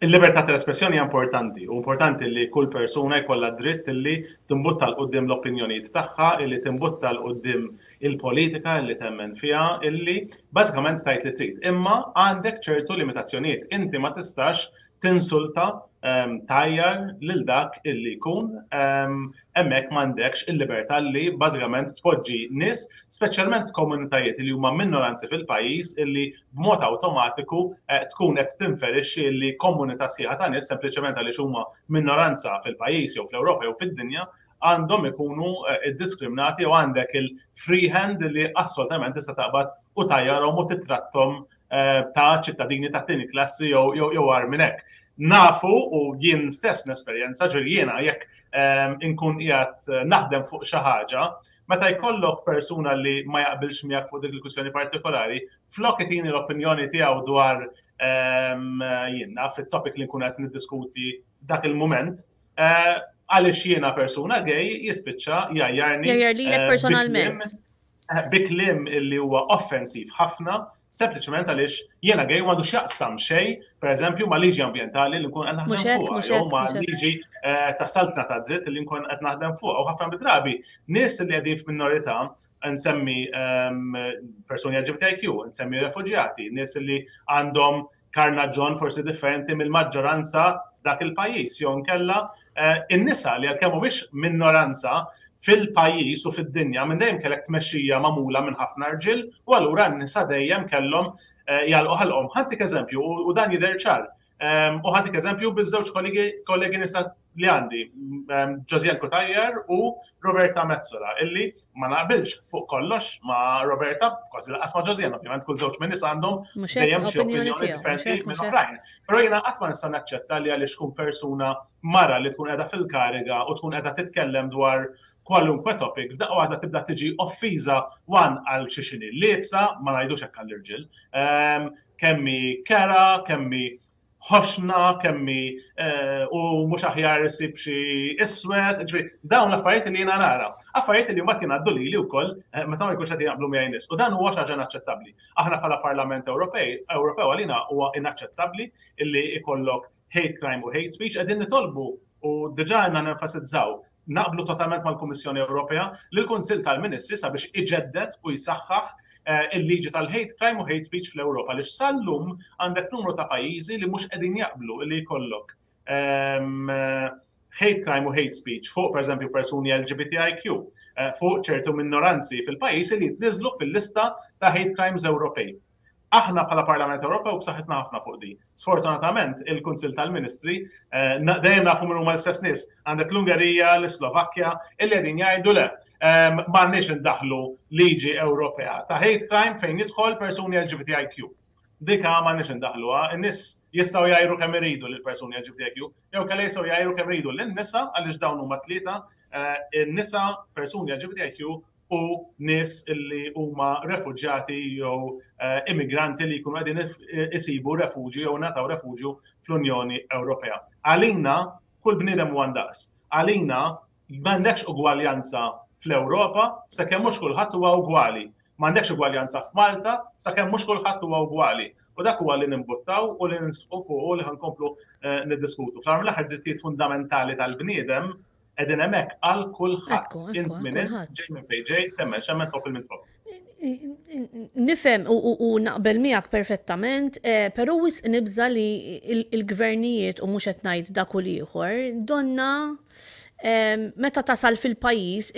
Il-libertà tal-espressjoni hija importanti, u importanti li kull persuna jkollha dritt li timbutta 'l quddiem l-opinjonijiet tagħha, li timbutta 'l quddiem il-politika li temmen fiha, illi bażikament tgħid li trid. Imma għandek ċertu limitazzjonijiet. Inti ma tistax tinsulta, tgħajjar lil dak illi jkun hemmhekk m'għandekx il-libertà li bażikament tpoġġi nies, speċjalment komunitajiet li huma minoranzi fil-pajjiż illi b'mod awtomatiku eh, tkun qed tinferixxi li komunità sħiħa ta' nies sempliċement għaliex huma minoranza fil-pajjiż jew fl-Ewropa jew fid-dinja għandhom ikunu eh, iddiskriminati jew għandek il-free hand li assolutament tista' taqbad u tajjarhom u titrattom eh, ta' ċittadini ta' tieni klassi jew jew minn hekk. Nafu u jien stess nesperjenza ġifieri jiena jekk ehm, inkun qiegħed eh, naħdem fuq xi ħaġa, meta jkollok persuna li ma jaqbilx miegħek fuq dik il-kwistjoni partikolari, flok itini l-opinjoni tiegħu dwar ehm, jien naf it-topic li nkun qed niddiskuti dak il-mument, eh, għaliex jiena persuna gay jispiċċa jgħajjarni. Jgħajjar lilek personalment. Bi kliem li huwa offensiv ħafna, sempliċement għaliex jiena gay u m'għandu x'jaqsam xejn, pereżempju, ma' liġi ambjentali li nkun qed naħdem fuqha, jew ma' liġi eh, ta' saltna ta' dritt li nkun qed naħdem fuqha. U ħafna drabi nies li qegħdin f'minorità nsemmi ehm, persuni LGBTIQ, nsemmi refuġjati, nies li għandhom karnaġġon forsi differenti mill-maġġoranza f'dak il-pajjiż jew inkella eh, in-nisa li għalkemm mhumiex minoranza fil-pajjiż u fid-dinja minn dejjem kellek tmexxija magħmula minn ħafna rġiel u allura n-nisa dejjem kellhom eh, jagħlqu ħalqhom. Ħantik eżempju u dan jidher ċar. Ehm, u ħantik eżempju biż-żewġ kollegi nisa li għandi, ehm, Josiane Cutajar u Roberta Metsola, illi ma naqbilx fuq kollox ma' Roberta, kważi laqas ma' Josiane, ovvjament kull żewġ minn nies għandhom dejjem xi opinjoni differenti minn oħrajn. Però jiena qatt ma nista' naċċetta li għaliex tkun persuna mara li tkun qiegħda fil-kariga u tkun qiegħda titkellem dwar kwalunkwe topic, f'daqqa waħda tibda tiġi offiża wan għal xi xini liebsa, ma ngħidux hekk għall-irġiel, ehm, kemm hi kera, kemm hi ħoxna, kemm hi eh, u mhux aħjar isib xi iswed, ġifieri dawn l-affarijiet li jiena nara. Affarijiet li mbagħad jingħaddu lili wkoll eh, meta ma jkunx qed jaqblu miegħi nies. U dan huwa xi ħaġa inaċċettabbli. Aħna bħala Parlament Ewropej, Ewropew għalina huwa inaċċettabbli illi ikollok hate crime u hate speech qegħdin nitolbu u diġà għandna nenfasizzaw Naqblu totalment mal-Kummissjoni Ewropea li l-Kunsill tal-Ministri sabiex iġedded u jsaħħaħ eh, il-liġi tal-hate crime u hate speech fl-Ewropa għaliex sal-lum għandek numru ta' pajjiżi li mhux qegħdin jaqblu li jkollok ehm, hate crime u hate speech fuq pereżempju persuni LGBTIQ, eh, fuq ċertu minoranzi fil-pajjiż li jitniżlu fil-lista ta' hate crimes Ewropej. Aħna bħala Parlament Ewropew b'saħħitna ħafna fuq di. Sfortunatament, il-Kunsill tal-Ministri, eh, dejjem nafu min huma l-istess nies, għandek l-Ungerija, l-Slovakkja, illi qegħdin jgħidu le, ehm, m'għandniex indaħlu liġi Ewropea ta' hate crime fejn jidħol persuni LGBTIQ. Dika m'għandniex indaħluha, in-nies jistgħu jgħajru kemm iridu lil persuni LGBTIQ, jew kellha jistgħu jgħajru kemm iridu lin-nisa għaliex dawn huma tlieta, eh, in-nisa, persuni LGBTIQ. u nies li huma refuġjati jew eh, immigranti li jkunu qegħdin isibu refuġju jew ngħataw refuġju fl-Unjoni Ewropea. Għalina kull bniedem huwa ndaqs. Għalina m'għandekx ugwaljanza fl-Ewropa sakemm mhux kulħadd huwa ugwali. M'għandekx ugwaljanza f'Malta sakemm mhux kulħadd huwa ugwali. U dak huwa li nimbuttaw u li nisqu fuq u li ħankomplu eh, niddiskutu. Fl-aħħar mill-aħħar drittijiet fundamentali tal-bniedem qegħdin hemmhekk għal kulħadd. Int minn int, ġej minn fejn ġej, temmen xemmen tħobb il-min tħobb. Nifhem u naqbel miegħek perfettament, eh, però wisq nibża li il-gvernijiet u mhux qed ngħid dak u l-ieħor, donna eh, meta tasal fil-pajjiż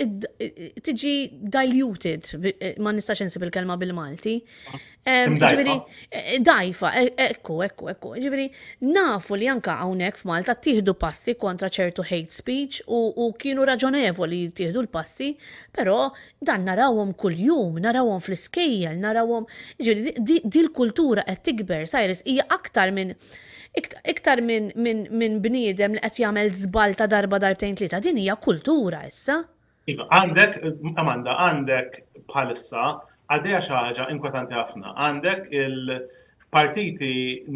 tiġi diluted, eh, ma nistax insib il-kelma bil-Malti. Ġifieri, dajfa, ekku, ekku, ekku. Ġifieri, nafu li anka hawnhekk f'Malta tieħdu passi kontra ċertu hate speech u kienu raġonevoli tieħdu l-passi, però dan narawhom kuljum, narawhom fl-iskejjel, narawhom. Ġifieri, di l-kultura qed tikber, Cyrus, hija aktar minn iktar minn min, min bniedem li qed jagħmel żball ta' darba darbtejn tlieta, din hija kultura issa. Iva, għandek, Amanda, għandek bħalissa għaddejja xi ħaġa inkwetanti ħafna. Għandek il-partiti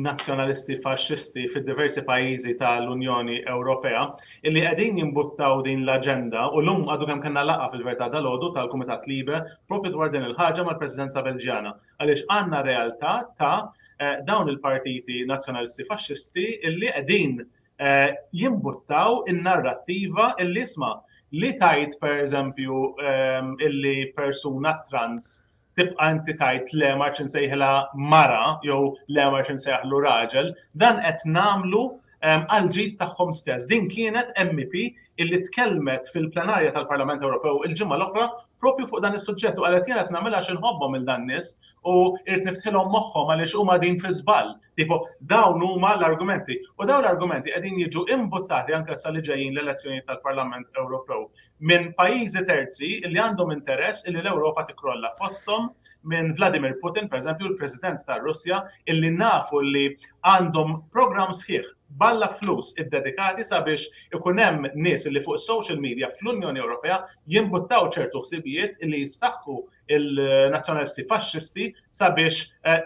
nazzjonalisti faxxisti fid-diversi pajjiżi tal-Unjoni Ewropea illi qegħdin jimbuttaw din l-aġenda u llum għadu kemm kellna laqgħa fil-verità dalgħodu tal-Kumitat Libe propju dwar din il-ħaġa mal-Presidenza Belġjana għaliex għandna realtà ta' eh, dawn il-partiti nazzjonalisti faxxisti illi qegħdin Eh, jimbuttaw in-narrattiva illi isma' li tajt per eżempju ehm, illi persuna trans tibqa' inti tajt le ma nsejħilha mara jew le ma nsejħlu raġel, dan qed nagħmlu ehm, għal ġid tagħhom stess. Din kienet MEP illi tkellmet fil-plenarja tal-Parlament Ewropew il-ġimgħa l-oħra propju fuq dan is-suġġett u qalet jien qed nagħmilha għax inħobbhom il dan nies u irid niftħilhom moħħhom għaliex huma din fi żball. Tipo, dawn huma l-argumenti. U dawn l-argumenti qegħdin jiġu imbuttati anke sa li ġejjin l-elezzjonijiet tal-Parlament Ewropew minn pajjiżi terzi li għandhom interess illi l-Ewropa tikrolla fosthom minn Vladimir Putin, per eżempju, l-President tar-Russja, illi nafu li għandhom programm sħiħ balla flus iddedikati sabiex ikun hemm nies li fuq social media fl-Unjoni Ewropea jimbuttaw ċertu ħsibijiet illi jissaħħu il-nazzjonalisti faxxisti sabiex eh,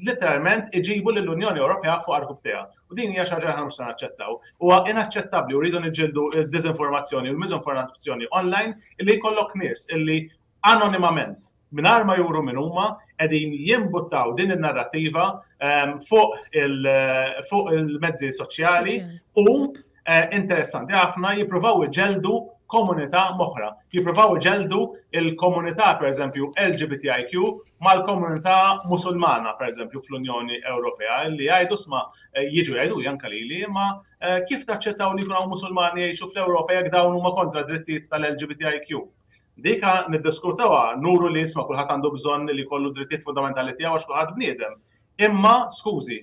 literalment iġibu lill-Unjoni Ewropea fuq arkubteha. U din hija xi ħaġa li mhux se naċċettaw. Huwa inaċċettabbli u rridu niġġieldu d-diżinformazzjoni u l-miżinformazzjoni online illi jkollok nies illi anonimament mingħajr ma juru min huma qegħdin jimbuttaw din in-narrattiva ehm, fuq il-mezzi soċjali u eh, interessanti ħafna jippruvaw iġeldu komunità moħra. Jippruvaw iġeldu il-komunità pereżempju LGBTIQ mal-komunità musulmana pereżempju fl-Unjoni Ewropea li jgħidu sma eh, jiġu jgħidu janka lili imma eh, kif taċċettaw li jkunu musulmani jgħixu fl-Ewropa jekk dawn huma kontra drittijiet tal-LGBTIQ. Dika niddiskutawha nuru li isma' kulħadd għandu bżonn li jkollu drittijiet fundamentali tiegħu għax kulħadd bniedem. Imma skużi,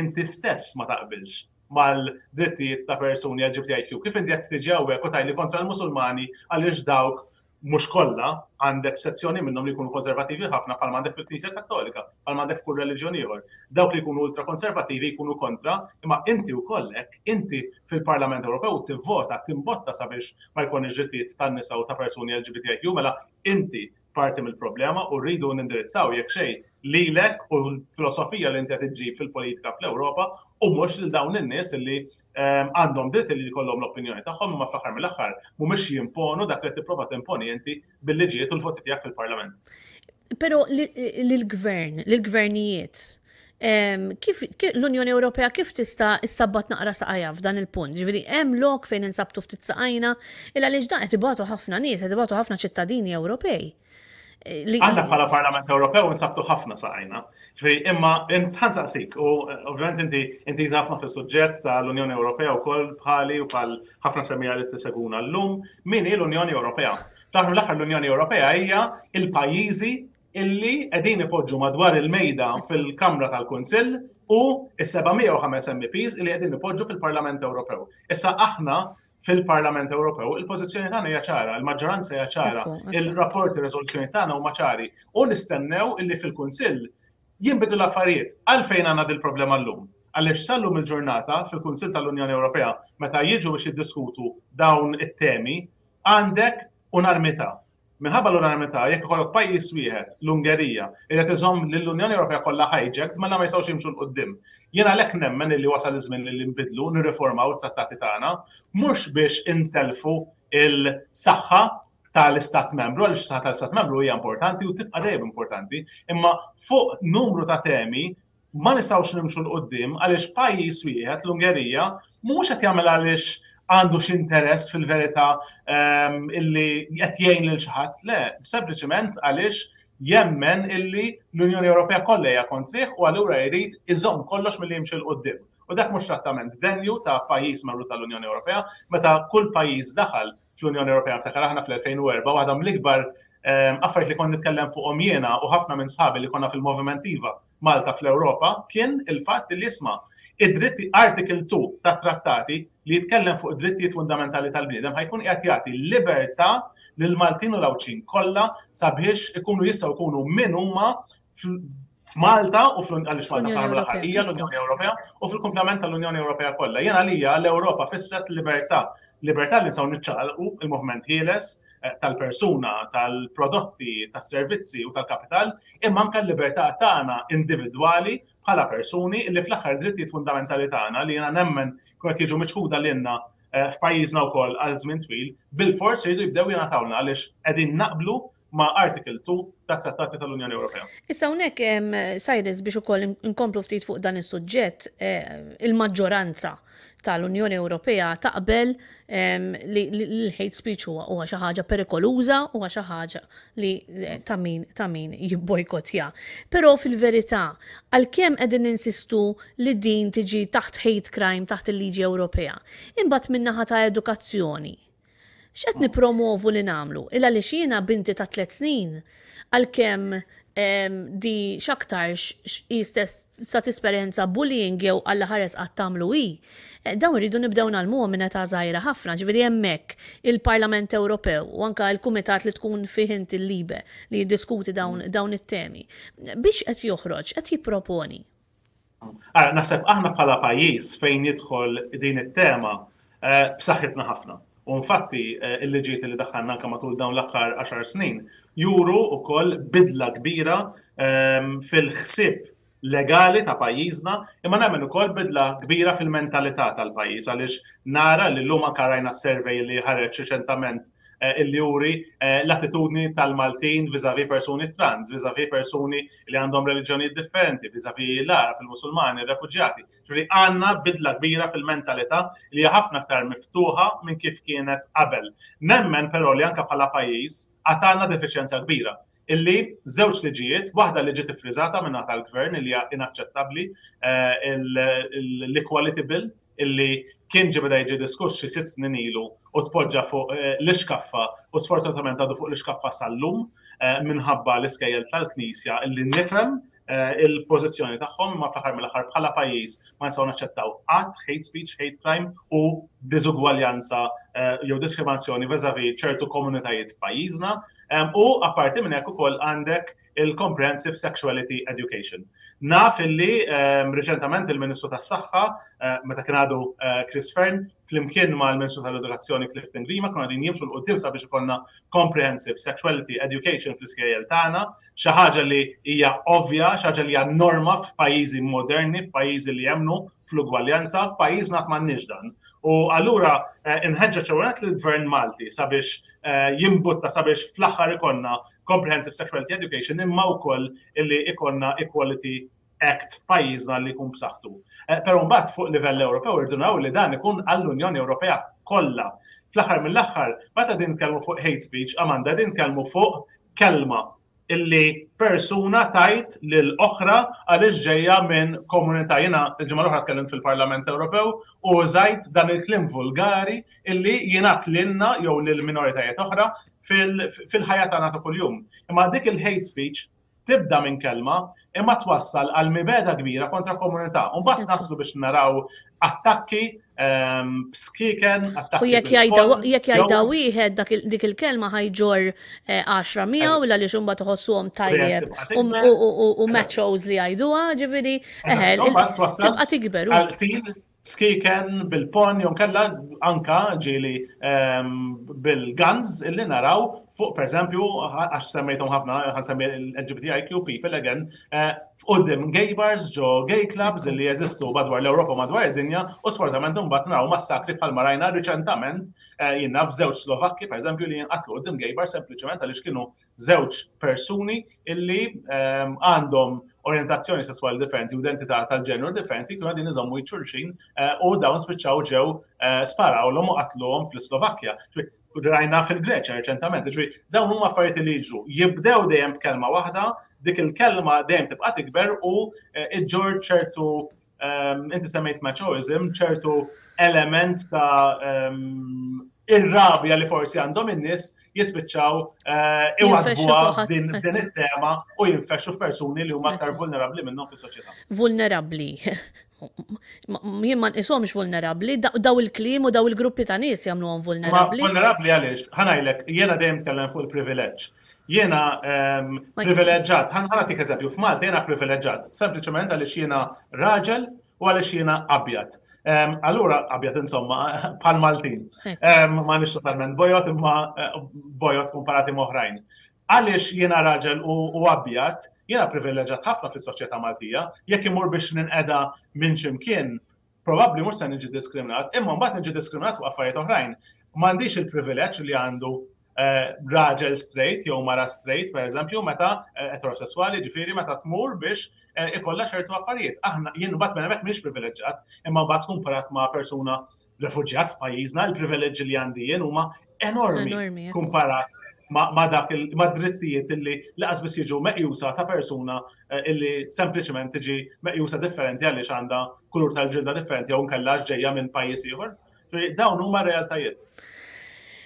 inti stess ma taqbilx mal-drittijiet ta' persuni LGBTIQ. Kif inti qed tiġi hawnhekk u tgħidli kontra l-Musulmani għaliex dawk mhux kollha għandek sezzjoni minnhom li jkunu konservattivi ħafna bħalma għandek fil-Knisja Kattolika, bħalma għandek f'kull reliġjon ieħor. Dawk li jkunu ultrakonservattivi jkunu kontra, imma inti wkoll hekk, inti fil-Parlament Ewropew tivvota, timbotta sabiex ma jkunx drittijiet tan-nisa u ta' persuni LGBTIQ, mela inti parti mill-problema u rridu nindirizzaw jekk xejn lilek u l-filosofija li inti qed iġġib fil-politika fl-Ewropa u mhux lil dawn in-nies li ehm, għandhom dritt li jkollhom l-opinjoni tagħhom imma fl-aħħar mill-aħħar mhumiex jimponu dak li tipprova timponi inti bil-liġijiet u l-voti tiegħek fil-Parlament. Però lill-gvern, lill-gvernijiet, kif l-Unjoni Ewropea kif tista' issabbat naqra saqajja f'dan il-punt? Ġifieri hemm lok fejn insabtu ftit saqajna il għaliex dan qed ibatu ħafna nies, qed ibatu ħafna ċittadini Ewropej. Eh, Aħna bħala Parlament Ewropew insabtu ħafna saqajna. Ġifieri imma ħansaqsik u eh, ovvjament inti inti ħafna fis-suġġett tal-Unjoni Ewropea wkoll bħali u bħal ħafna semija li tiseguna llum, min hi l-Unjoni Ewropea? Fl-aħħar mill-aħħar l-Unjoni Ewropea hija il-pajjiżi illi qegħdin ipoġġu madwar il-mejda fil-Kamra tal-Kunsill u s-705 MEPs illi qegħdin ipoġġu fil-Parlament Ewropew. Issa aħna fil-Parlament Ewropew il-pożizzjoni tagħna hija ċara, il-maġġoranza hija ċara, il-rapporti riżoluzzjoni tagħna huma ċari u nistennew illi fil-Kunsill jinbidu l-affarijiet. Għalfejn għandna dil-problema llum? Għaliex sal-lum il-ġurnata fil-Kunsill tal-Unjoni Ewropea meta jiġu biex jiddiskutu dawn it-temi għandek unanimità. Minħabba l-unanimità, jekk ikollok pajjiż wieħed, l-Ungerija, li qed iżomm lill-Unjoni Ewropea kollha hijacked, mela ma jistgħux jimxu 'l quddiem. Jien għalhekk nemmen illi wasal iż-żmien li nbiddlu, nirriformaw it-trattati tagħna, mhux biex intellfu l-saħħa tal-Istat Membru, għaliex is-saħħa tal-Istat Membru hija importanti u tibqa' dejjem importanti, imma fuq numru ta' temi ma nistgħux nimxu 'l quddiem għaliex pajjiż wieħed, l-Ungerija, mhux qed jagħmel għaliex għandu xi interess fil-verità ehm, illi qed jgħin lil xi ħadd, le, sempliċement għaliex jemmen illi l-Unjoni Ewropea kollha hija kontrih u allura jrid iżomm kollox milli jimxi 'l quddiem. U dak mhux trattament denju ta' pajjiż membru tal-Unjoni Ewropea, meta kull pajjiż daħal fl-Unjoni Ewropea, niftakar aħna fl-2004, waħda mill-ikbar ehm, affarijiet li kont nitkellem fuqhom jiena u ħafna minn sħabi li konna fil-Moviment Iva Malta fl-Ewropa kien il-fatt li isma' id-dritti Article 2 tat-trattati li jitkellem fuq id-drittijiet fundamentali tal-bniedem ħa jkun qiegħed jagħti libertà lill-Maltin u l-Għawdxin kollha sabiex ikunu jistgħu jkunu min huma f'Malta u għaliex Malta fl-aħħar mill-aħħar hija l-Unjoni Ewropea u fil-kumplament tal-Unjoni Ewropea kollha. Jien għalija l-Ewropa fissret libertà, libertà li nistgħu niċċaqalqu il-moviment ħieles eh, tal-persuna, tal-prodotti, tas-servizzi u tal-kapital, imma anke l-libertà tagħna individwali bħala persuni li fl-aħħar drittijiet fundamentali tagħna li jiena nemmen kienu qed jiġu miċħuda lilna eh, f'pajjiżna wkoll għal żmien twil, bil-fors jridu jibdew jingħatawna għaliex qegħdin naqblu ma' Article 2 tat-Trattati tal-Unjoni Ewropea. Issa hawnhekk Cyrus biex ukoll inkomplu ftit fuq dan is-suġġett, eh, il-maġġoranza tal-Unjoni Ewropea taqbel li l-hate speech huwa huwa xi ħaġa perikoluża, huwa xi ħaġa li eh, ta' min ta' min jibbojkotja. Però fil-verità, għalkemm qegħdin ninsistu li din tiġi taħt hate crime taħt il-liġi Ewropea, imbagħad min-naħa ta' edukazzjoni X'qed nippromovu li nagħmlu? Il għaliex jiena binti ta' tliet snin, għalkemm di x'aktarx hi stess sa tesperjenza bullying jew Alla ħares qatt tagħmlu hi, eh, dawn irridu nibdew ngħallmuhom minn età żgħira ħafna, ġifieri hemmhekk il-Parlament Ewropew u anke l-kumitat li tkun fih inti l-Libe li jiddiskuti dawn, dawn it-temi. Biex qed joħroġ, qed jipproponi. Ara, naħseb aħna bħala pajjiż fejn jidħol din it-tema eh, b'saħħitna ħafna. U infatti eh, il-liġijiet li daħħalna anke matul dawn l-aħħar 10 snin juru wkoll bidla kbira ehm, fil-ħsieb legali ta' pajjiżna, imma nemmen ukoll bidla kbira fil-mentalità tal-pajjiż għaliex nara li llum anke rajna survey li ħareġ riċentament eh, illi juri eh, l-attitudni tal-Maltin viżavi persuni trans, viżavi persuni li għandhom reliġjonijiet differenti, viżavi l-Arab, il-Musulmani, il-refuġjati. Ġifieri għandna bidla kbira fil-mentalità li hija ħafna aktar miftuħa minn kif kienet qabel. Nemmen però li anke bħala pajjiż għad għandna defiċjenza kbira illi żewġ liġijiet, waħda li ġiet iffriżata minn tal-gvern li hija inaċċettabbli, eh, l-Equality Bill, illi kien ġie beda jiġi diskuss xi sitt snin ilu u tpoġġa fuq eh, l-ixkaffa u sfortunatament għadu fuq l-ixkaffa sal-lum eh, minħabba l-iskejjel tal-Knisja illi nifhem eh, il-pożizzjoni tagħhom imma fl-aħħar mill-aħħar bħala pajjiż ma nistgħu naċċettaw qatt hate speech, hate crime u diżugwaljanza jew diskriminazzjoni vis-a-vis ċertu komunitajiet f'pajjiżna. U apparti minn hekk ukoll għandek il-Comprehensive Sexuality Education. Naf illi ehm, riċentament il-Ministru tas-Saħħa, eh, meta kien għadu eh, Chris Fearne, flimkien mal-Ministru tal-Edukazzjoni Clifton Grima, kienu għadin jimxu l-qoddim sabiex ikollna Comprehensive Sexuality Education fl-iskejjel tagħna, xi ħaġa li hija ovvja, xi ħaġa li hija norma f'pajjiżi moderni, f'pajjiżi li jemmnu fl-ugwaljanza, f'pajjiżna m'għandniex dan. U allura eh, inħeġġeġ ewwel lill-Gvern Malti sabiex jimbutta sabiex fl-aħħar ikollna Comprehensive Sexuality Education imma wkoll illi ikonna Equality Act f'pajjiżna li jkun b'saħħtu. Eh, però mbagħad fuq livell Ewropew irridu naraw li dan ikun għall-Unjoni Ewropea kollha. Fl-aħħar mill-aħħar, meta din nitkellmu fuq hate speech, Amanda, din nitkellmu fuq kelma illi persuna tajt lil oħra għaliex ġejja minn komunità. Jiena l-ġimgħa l-oħra tkellimt fil-Parlament Ewropew u użajt dan il-kliem vulgari illi jingħad lilna jew lil minoritajiet oħra fil-ħajja tagħna ta' kuljum. Imma dik il-hate speech tibda minn kelma imma twassal għal mibeda kbira kontra komunità. U mbagħad naslu biex naraw attakki ehm, b'skiken, attakki. U jekk jgħidha wieħed dik il-kelma ħajġor 10 eh, miegħu illa li xumba tħossuhom tajjeb u machos li jgħiduha, ġifieri, eh, tibqa' tikber. Skiken bil-ponn jew kella anka ġieli bil-guns illi naraw fuq pereżempju għax semmejthom ħafna ħa nsemmi l-LGBTIQ people again eh, f'quddiem gay bars ġo gay clubs illi jeżistu madwar l-Ewropa madwar id-dinja u sfortunatament imbagħad naraw massakri bħalma rajna riċentament eh, jien naf żewġ Slovakki pereżempju li jinqatlu quddiem gay bar sempliċement għaliex kienu żewġ persuni illi ehm, għandhom orjentazzjoni sesswali differenti u identità tal-ġeneru differenti kienu għadin iżommu xulxin eh, u dawn spiċċaw ġew eh, sparawlhom u qatluhom fl-Slovakkja. Rajna fil-Greċja reċentament, ġifieri dawn huma affarijiet li jiġru. Jibdew dejjem b'kelma waħda, dik il-kelma dejjem tibqa' tikber u eh, iġġor ċertu ehm, inti semmejt machoism, ċertu element ta' ehm, ir-rabja li forsi għandhom in-nies jispiċċaw eh, iwadbuha din it-tema u jinfexxu f'persuni li huma aktar vulnerabbli minnhom fis-soċjetà. Vulnerabbli. Jien ma nqishomx vulnerabbli, daw il-kliem u daw il-gruppi ta' nies jagħmluhom vulnerabbli. Vulnerabbli għaliex, ħanajlek, jiena dejjem tkellem fuq il-privileġġ. Jiena ehm, privileġġat, ħa nagħtik eżempju, f'Malta jiena privileġġat, sempliċement għaliex jiena raġel u għaliex jiena abjad. Allura, abjad insomma, bħal Maltin. Ma nix totalment bojot, imma eh, bojot komparati moħrajn. Għaliex jiena raġel u abjad, jiena privileġġat ħafna fis-soċjetà Maltija, jekk imur biex ninqeda minn ximkien, probabbli mhux se niġi diskriminat, imma mbagħad niġi diskriminat fuq affarijiet oħrajn. M'għandix il-privileġġ li għandu eh, raġel straight jew mara straight, per eżempju, meta eh, eterosessuali, ġifieri meta tmur biex eh, ikollha ċertu affarijiet. Aħna jien mbagħad minn hemmhekk m'iniex privileġġjat, imma mbagħad kumparat ma' persuna refuġjat f'pajjiżna, il-privileġġi li għandi jien huma enormi kumparat ma' dak ma' drittijiet illi laqas biss jiġu meqjusa ta' persuna illi sempliċement tiġi meqjusa differenti għaliex għandha kulur tal-ġilda differenti jew nkella ġejja minn pajjiż ieħor. Dawn huma realtajiet.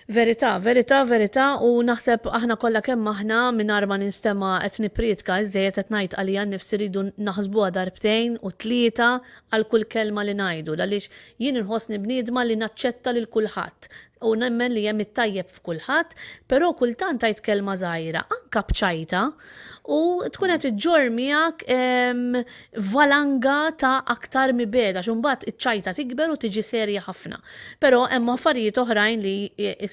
Verità, verità, verità u naħseb aħna kollha kemm aħna mingħajr ma ninstema' qed nipprietka iżżejjed qed ngħid għalija nnifsi rridu naħsbuha darbtejn u tlieta għal kull kelma li ngħidu għaliex jien inħossni bniedma li naċċetta lil kulħadd u nemmen li hemm it-tajjeb f'kulħadd, però kultant tgħid kelma żgħira, anke b'ċajta, u tkun qed iġġorr miegħek valanga ta' aktar mibegħda għax imbagħad iċ-ċajta tikber u tiġi serja ħafna. Però hemm affarijiet oħrajn li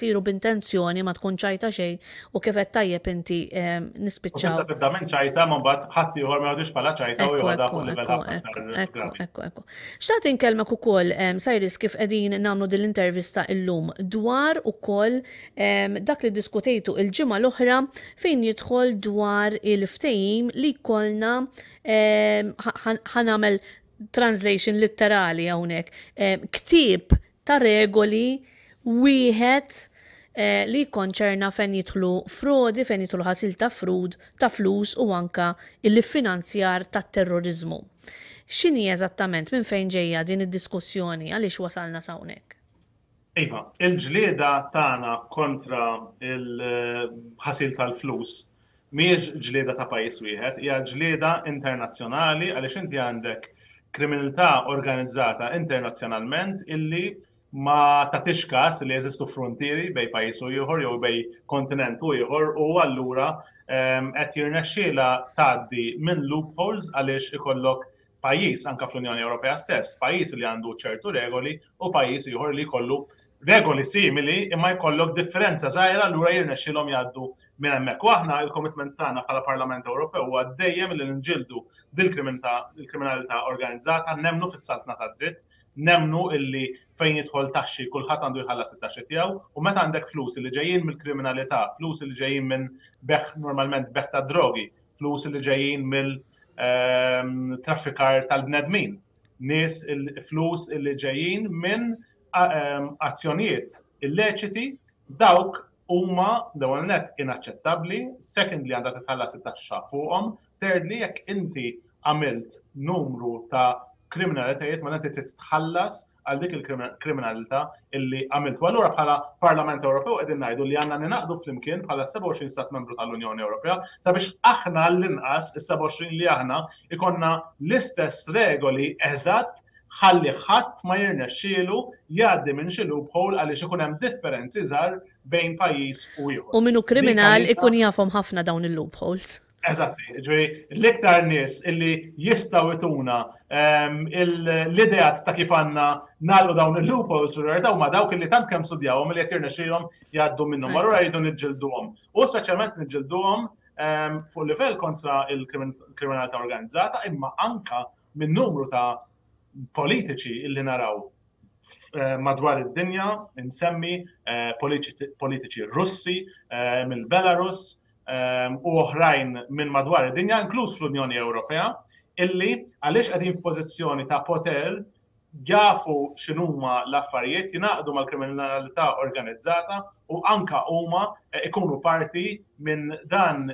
jsiru b'intenzjoni ma tkun ċajta xejn u kif qed tajjeb inti nispiċċaw. Tista' tibda minn ċajta ma mbagħad ħadd ieħor ma jgħodix bħala ċajta u joħodha fuq livell ħafna aktar gravi. Ekku, ekku. Xtaqt inkellmek ukoll Cyrus kif qegħdin nagħmlu din l-intervista illum dwar ukoll dak li ddiskutejtu il-ġimgħa l-oħra fejn jidħol dwar il-ftehim li jkollna ħa nagħmel translation litterali hawnhekk, ktieb ta' regoli wieħed eh, li jikkonċerna fejn jidħlu frodi, fejn jidħlu ħasil ta' frud, ta' flus u anka il-finanzjar tat-terroriżmu. X'inhi eżattament minn fejn ġejja din id-diskussjoni għaliex wasalna s'hawnhekk? Iva, il-ġlieda tagħna kontra il-ħasil tal-flus mhijiex ġlieda ta' pajjiż wieħed, hija ġlieda internazzjonali għaliex inti għandek kriminalità organizzata internazzjonalment illi ma tagħtix każ li jeżistu fruntieri bejn pajjiż u ieħor jew bejn kontinent u ieħor u allura ehm, qed jirnexxielha tgħaddi minn loopholes għaliex ikollok pajjiż anke fl-Unjoni Ewropea stess, pajjiż li għandu ċertu regoli u pajjiż ieħor li jkollu regoli simili imma jkollok differenza żgħira allura jirnexxilhom jgħaddu minn hemmhekk. U aħna il-commitment tagħna bħala Parlament Ewropew huwa dejjem li nġildu dil-kriminalità organizzata, nemmnu fis-saltna tad-dritt, nemmnu illi fejn jidħol taxxi kulħadd għandu jħallas it-taxxi tiegħu u meta għandek flus li ġejjin mill-kriminalità, flus li ġejjin minn beħ normalment beħ ta' drogi, flus li ġejjin mill ehm, traffikar tal-bnedmin, nies il-flus li ġejjin minn ehm, azzjonijiet illeċiti, dawk huma l-ewwel net inaċċettabbli, secondly għandha titħallas it-taxxa fuqhom, thirdly jekk inti għamilt numru ta' kriminalitajiet ma inti trid tħallas għal dik il-kriminalità illi għamilt. U allura bħala Parlament Ewropew qegħdin ngħidu li għandna ninaqdu flimkien bħala 27 stat membru tal-Unjoni Ewropea sabiex aħna l-inqas is-27 li aħna ikonna l-istess regoli eżatt ħalli ħadd ma jirnexxielu jgħaddi minn xi loophole għaliex ikun hemm differenzi żgħar bejn pajjiż u ieħor. U min hu kriminal ikun jafhom ħafna dawn il-loopholes. Eżatti, ġifieri l-iktar nies illi jistgħu jtuna ehm, l-ideat ta' kif għandna nagħlqu dawn il-loopholes fil-verità huma dawk illi tant kemm studjawhom li qed jirnexxilhom jgħaddu minnhom. Allura jridu niġġilduhom. U speċjalment niġġilduhom ehm, fuq livell kontra il-kriminalità organizzata, imma anka minn numru ta' politiċi illi naraw eh, madwar id-dinja, insemmi eh, politiċi Russi eh, mill-Belarus u oħrajn minn madwar id-dinja, inkluż fl-Unjoni Ewropea, illi għaliex qegħdin f'pożizzjoni ta' poter jafu x'inhuma l-affarijiet, jingħaqdu mal-kriminalità organizzata u anka huma ikunu parti minn dan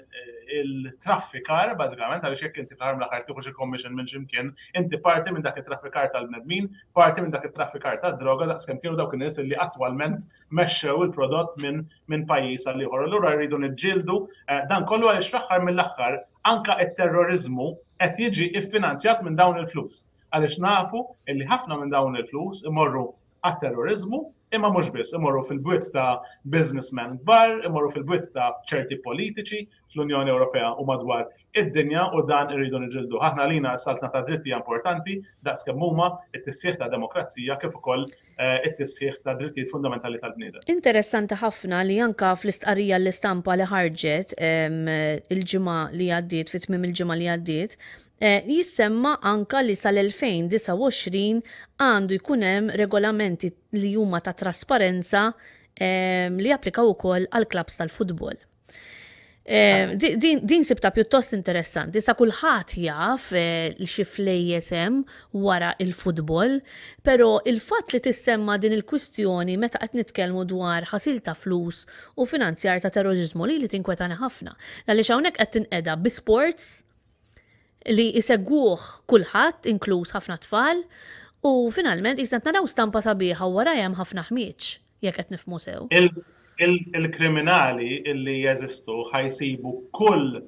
il-traffikar, bażikament, għaliex jekk inti fl-aħħar mill-aħħar tieħu xi commission minn x'imkien, inti parti minn dak it-traffikar tal-bnedmin, parti minn dak it-traffikar tad-droga daqskemm kienu dawk in-nies li attwalment mexxew il-prodott minn minn pajjiż għal ieħor. Allura rridu niġġieldu eh, dan kollu għaliex fl-aħħar mill-aħħar anka t-terroriżmu qed jiġi iffinanzjat minn dawn il-flus. Għaliex nafu li ħafna minn dawn il-flus imorru għat-terroriżmu, imma mhux biss, imorru fil-bwiet ta' businessmen kbar, imorru fil-bwiet ta' ċerti politiċi fl-Unjoni Ewropea u madwar id-dinja u dan irridu niġildu. Aħna għalina s-saltna ta' dritt hija importanti daqs kemm huma t-tisħiħ ta' demokrazija kif ukoll eh, it-tisħiħ ta' drittijiet fundamentali tal-bniedem. Interessanti ħafna li anka fl-istqarrija l-istampa li ħarġet il-ġimgħa li għaddiet, fi tmiem il-ġimgħa li għaddiet, Jissemma anka li sal-2029 għandu jkun hemm regolamenti li huma ta' trasparenza li japplikaw ukoll għall-klabbs tal-futbol. Din, din sibta pjuttost interessanti, sa kulħadd jaf li xi flejjes hemm wara il-futbol, però il-fatt li tissemma din il-kwistjoni meta qed nitkellmu dwar ħasil ta' flus u finanzjar ta' terroriżmu li li tinkwetani ħafna. Għaliex hawnhekk qed tinqeda bi sports li jsegwuh kulħadd, inkluż ħafna tfal, u finalment qisna qed naraw stampa sabiħa u warajha hemm ħafna ħmieġ, jekk qed nifhmu sew. Il-kriminali li jeżistu ħa jsibu kull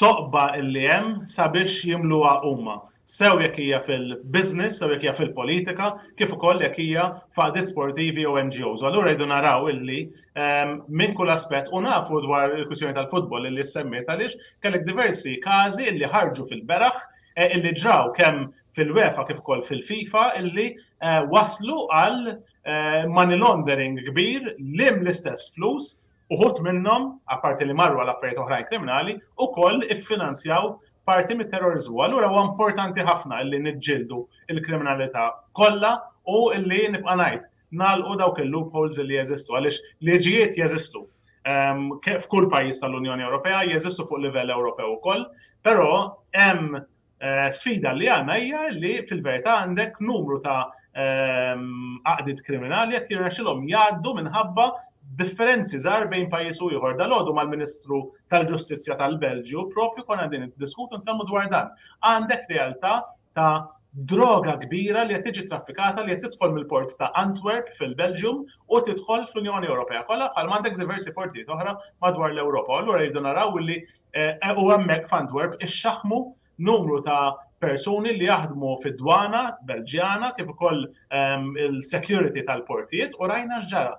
toqba li hemm sabiex jimluha huma. Sew jekk hija fil-business, sew jekk hija fil-politika, kif ukoll jekk hija f'għaqdiet sportivi jew NGOs. U allura rridu naraw illi ehm, minn kull aspett u nafu dwar il-kwistjoni tal-futbol illi semmiet għaliex kellek diversi każi illi ħarġu fil-beraħ eh, illi ġraw kemm fil-UEFA kif ukoll fil-FIFA illi eh, waslu għal eh, money laundering kbir lim l-istess flus uħut minnhom, apparti li marru għal affarijiet oħrajn kriminali, ukoll iffinanzjaw parti mit-terroriżmu. Allura huwa importanti ħafna illi niġġieldu il-kriminalità kollha u illi nibqa' ngħid nagħlqu dawk il-loopholes li jeżistu għaliex liġijiet jeżistu ehm, f'kull pajjiż tal-Unjoni Ewropea, jeżistu fuq livell Ewropew ukoll, però hemm eh, sfida li għandna hija li fil-verità għandek numru ta' ehm, għaqdiet kriminali qed jirnexxilhom jgħaddu minħabba differenzi żgħar bejn pajjiż u ieħor. Dalgħodu mal-Ministru tal-Ġustizzja tal-Belġju propju konna din niddiskutu nitkellmu dwar dan. Għandek realtà ta' droga kbira li qed tiġi traffikata li qed tidħol mill-port ta' Antwerp fil-Belġium u tidħol fl-Unjoni Ewropea kollha bħal m'għandek diversi portijiet oħra madwar l-Ewropa. Allura jridu naraw li eh, u hemmhekk f'Antwerp ixxaħmu numru ta' persuni li jaħdmu fid-dwana Belġjana kif ukoll ehm, il-security tal-portijiet u rajna x'ġara.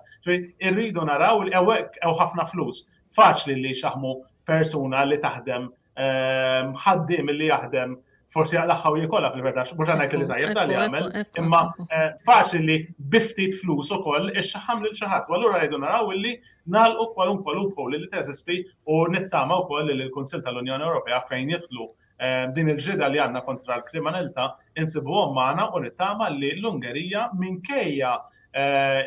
Irridu naraw li hawnhekk hawn ħafna flus. Faċli li xaħmu persuna li taħdem ehm, ħaddiem li jaħdem forsi jaqlaħħa u jikolla fil-verità, mhux ngħid li tajjeb tal jagħmel, imma eh, faċli li biftit flus ukoll ixxaħam lil xi ħadd. U allura rridu naraw illi nagħlqu kwalunkwe loophole li teżisti u nittama wkoll li l-Kunsill tal-Unjoni Ewropea fejn jidħlu eh, din il-ġrida li għandna kontra l-kriminalità insibuhom magħna u nittama li l-Ungerija minkejja eh,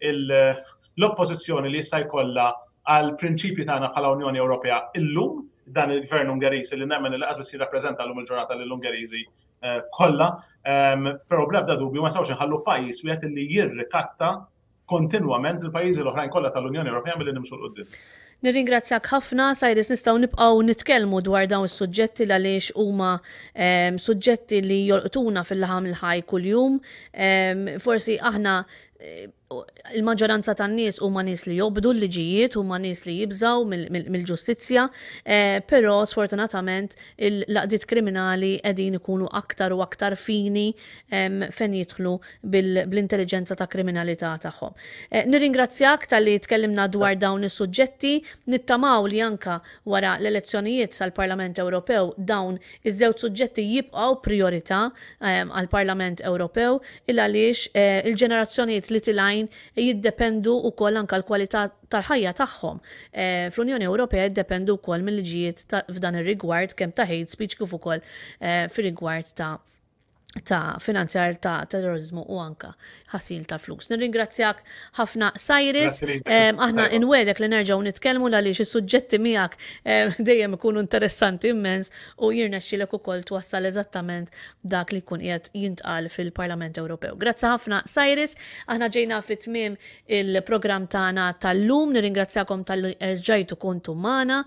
l-oppożizzjoni li jista' jkollha għal prinċipji tagħna bħala Unjoni Ewropea illum dan il-gvern Ungeriż li nemmen li qas jirrappreżenta llum il-ġurnata lill-Ungeriżi eh, kollha, ehm, però bl-ebda dubju ma nistgħux inħallu pajjiż wieħed li jirrikatta kontinwament il-pajjiżi l-oħrajn kollha tal-Unjoni Ewropea milli nimxu 'l quddiem. Nirringrazzjak ħafna, Cyrus, nistgħu nibqgħu nitkellmu dwar dawn is-suġġetti għaliex huma ehm, suġġetti li jolqtuna fil-laħam il-ħaj kuljum. Ehm, forsi aħna Il-maġġoranza tan-nies huma nies li jobdu l-liġijiet, huma nies li jibżgħu mill-ġustizzja, però sfortunatament l-għaqdiet kriminali qegħdin ikunu aktar u aktar fini fejn jidħlu bl-intelliġenza ta' kriminalità tagħhom. Nirringrazzjak talli tkellimna dwar dawn is-suġġetti, nittamaw li anka wara l-elezzjonijiet tal-Parlament Ewropew dawn iż-żewġ suġġetti jibqgħu prijorità għall-Parlament Ewropew il għaliex il-ġenerazzjonijiet li tilgħin jiddependu wkoll anke l-kwalità tal-ħajja tagħhom fl-Unjoni Ewropea jiddependu wkoll mill-liġijiet f'dan ir-rigward kemm ta' hate speech kif ukoll fir-rigward ta' ta' finanzjar ta' terrorizmu u anka ħasil ta' flus. Nirringrazzjak ħafna Cyrus, aħna inwedek li nerġgħu nitkellmu għaliex is-suġġetti miegħek dejjem ikunu interessanti immens u jirnexxilek ukoll twassal eżattament dak li jkun qiegħed jintqal fil-Parlament Ewropew. Grazzi ħafna Cyrus, aħna ġejna fi tmiem il-programm tagħna tal-lum, nirringrazzjakom talli erġajtu kontu magħna,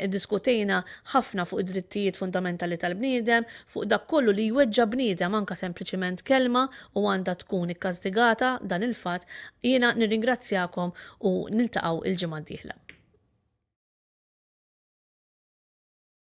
iddiskutejna ħafna fuq id-drittijiet fundamentali tal-bniedem, fuq dak kollu li jweġġa' bniedem anke sempliċiment kelma u għandha tkun ikkastigata dan il-fatt, jiena nirringrazzjakom u niltaqgħu il-ġimgħa d-dieħla.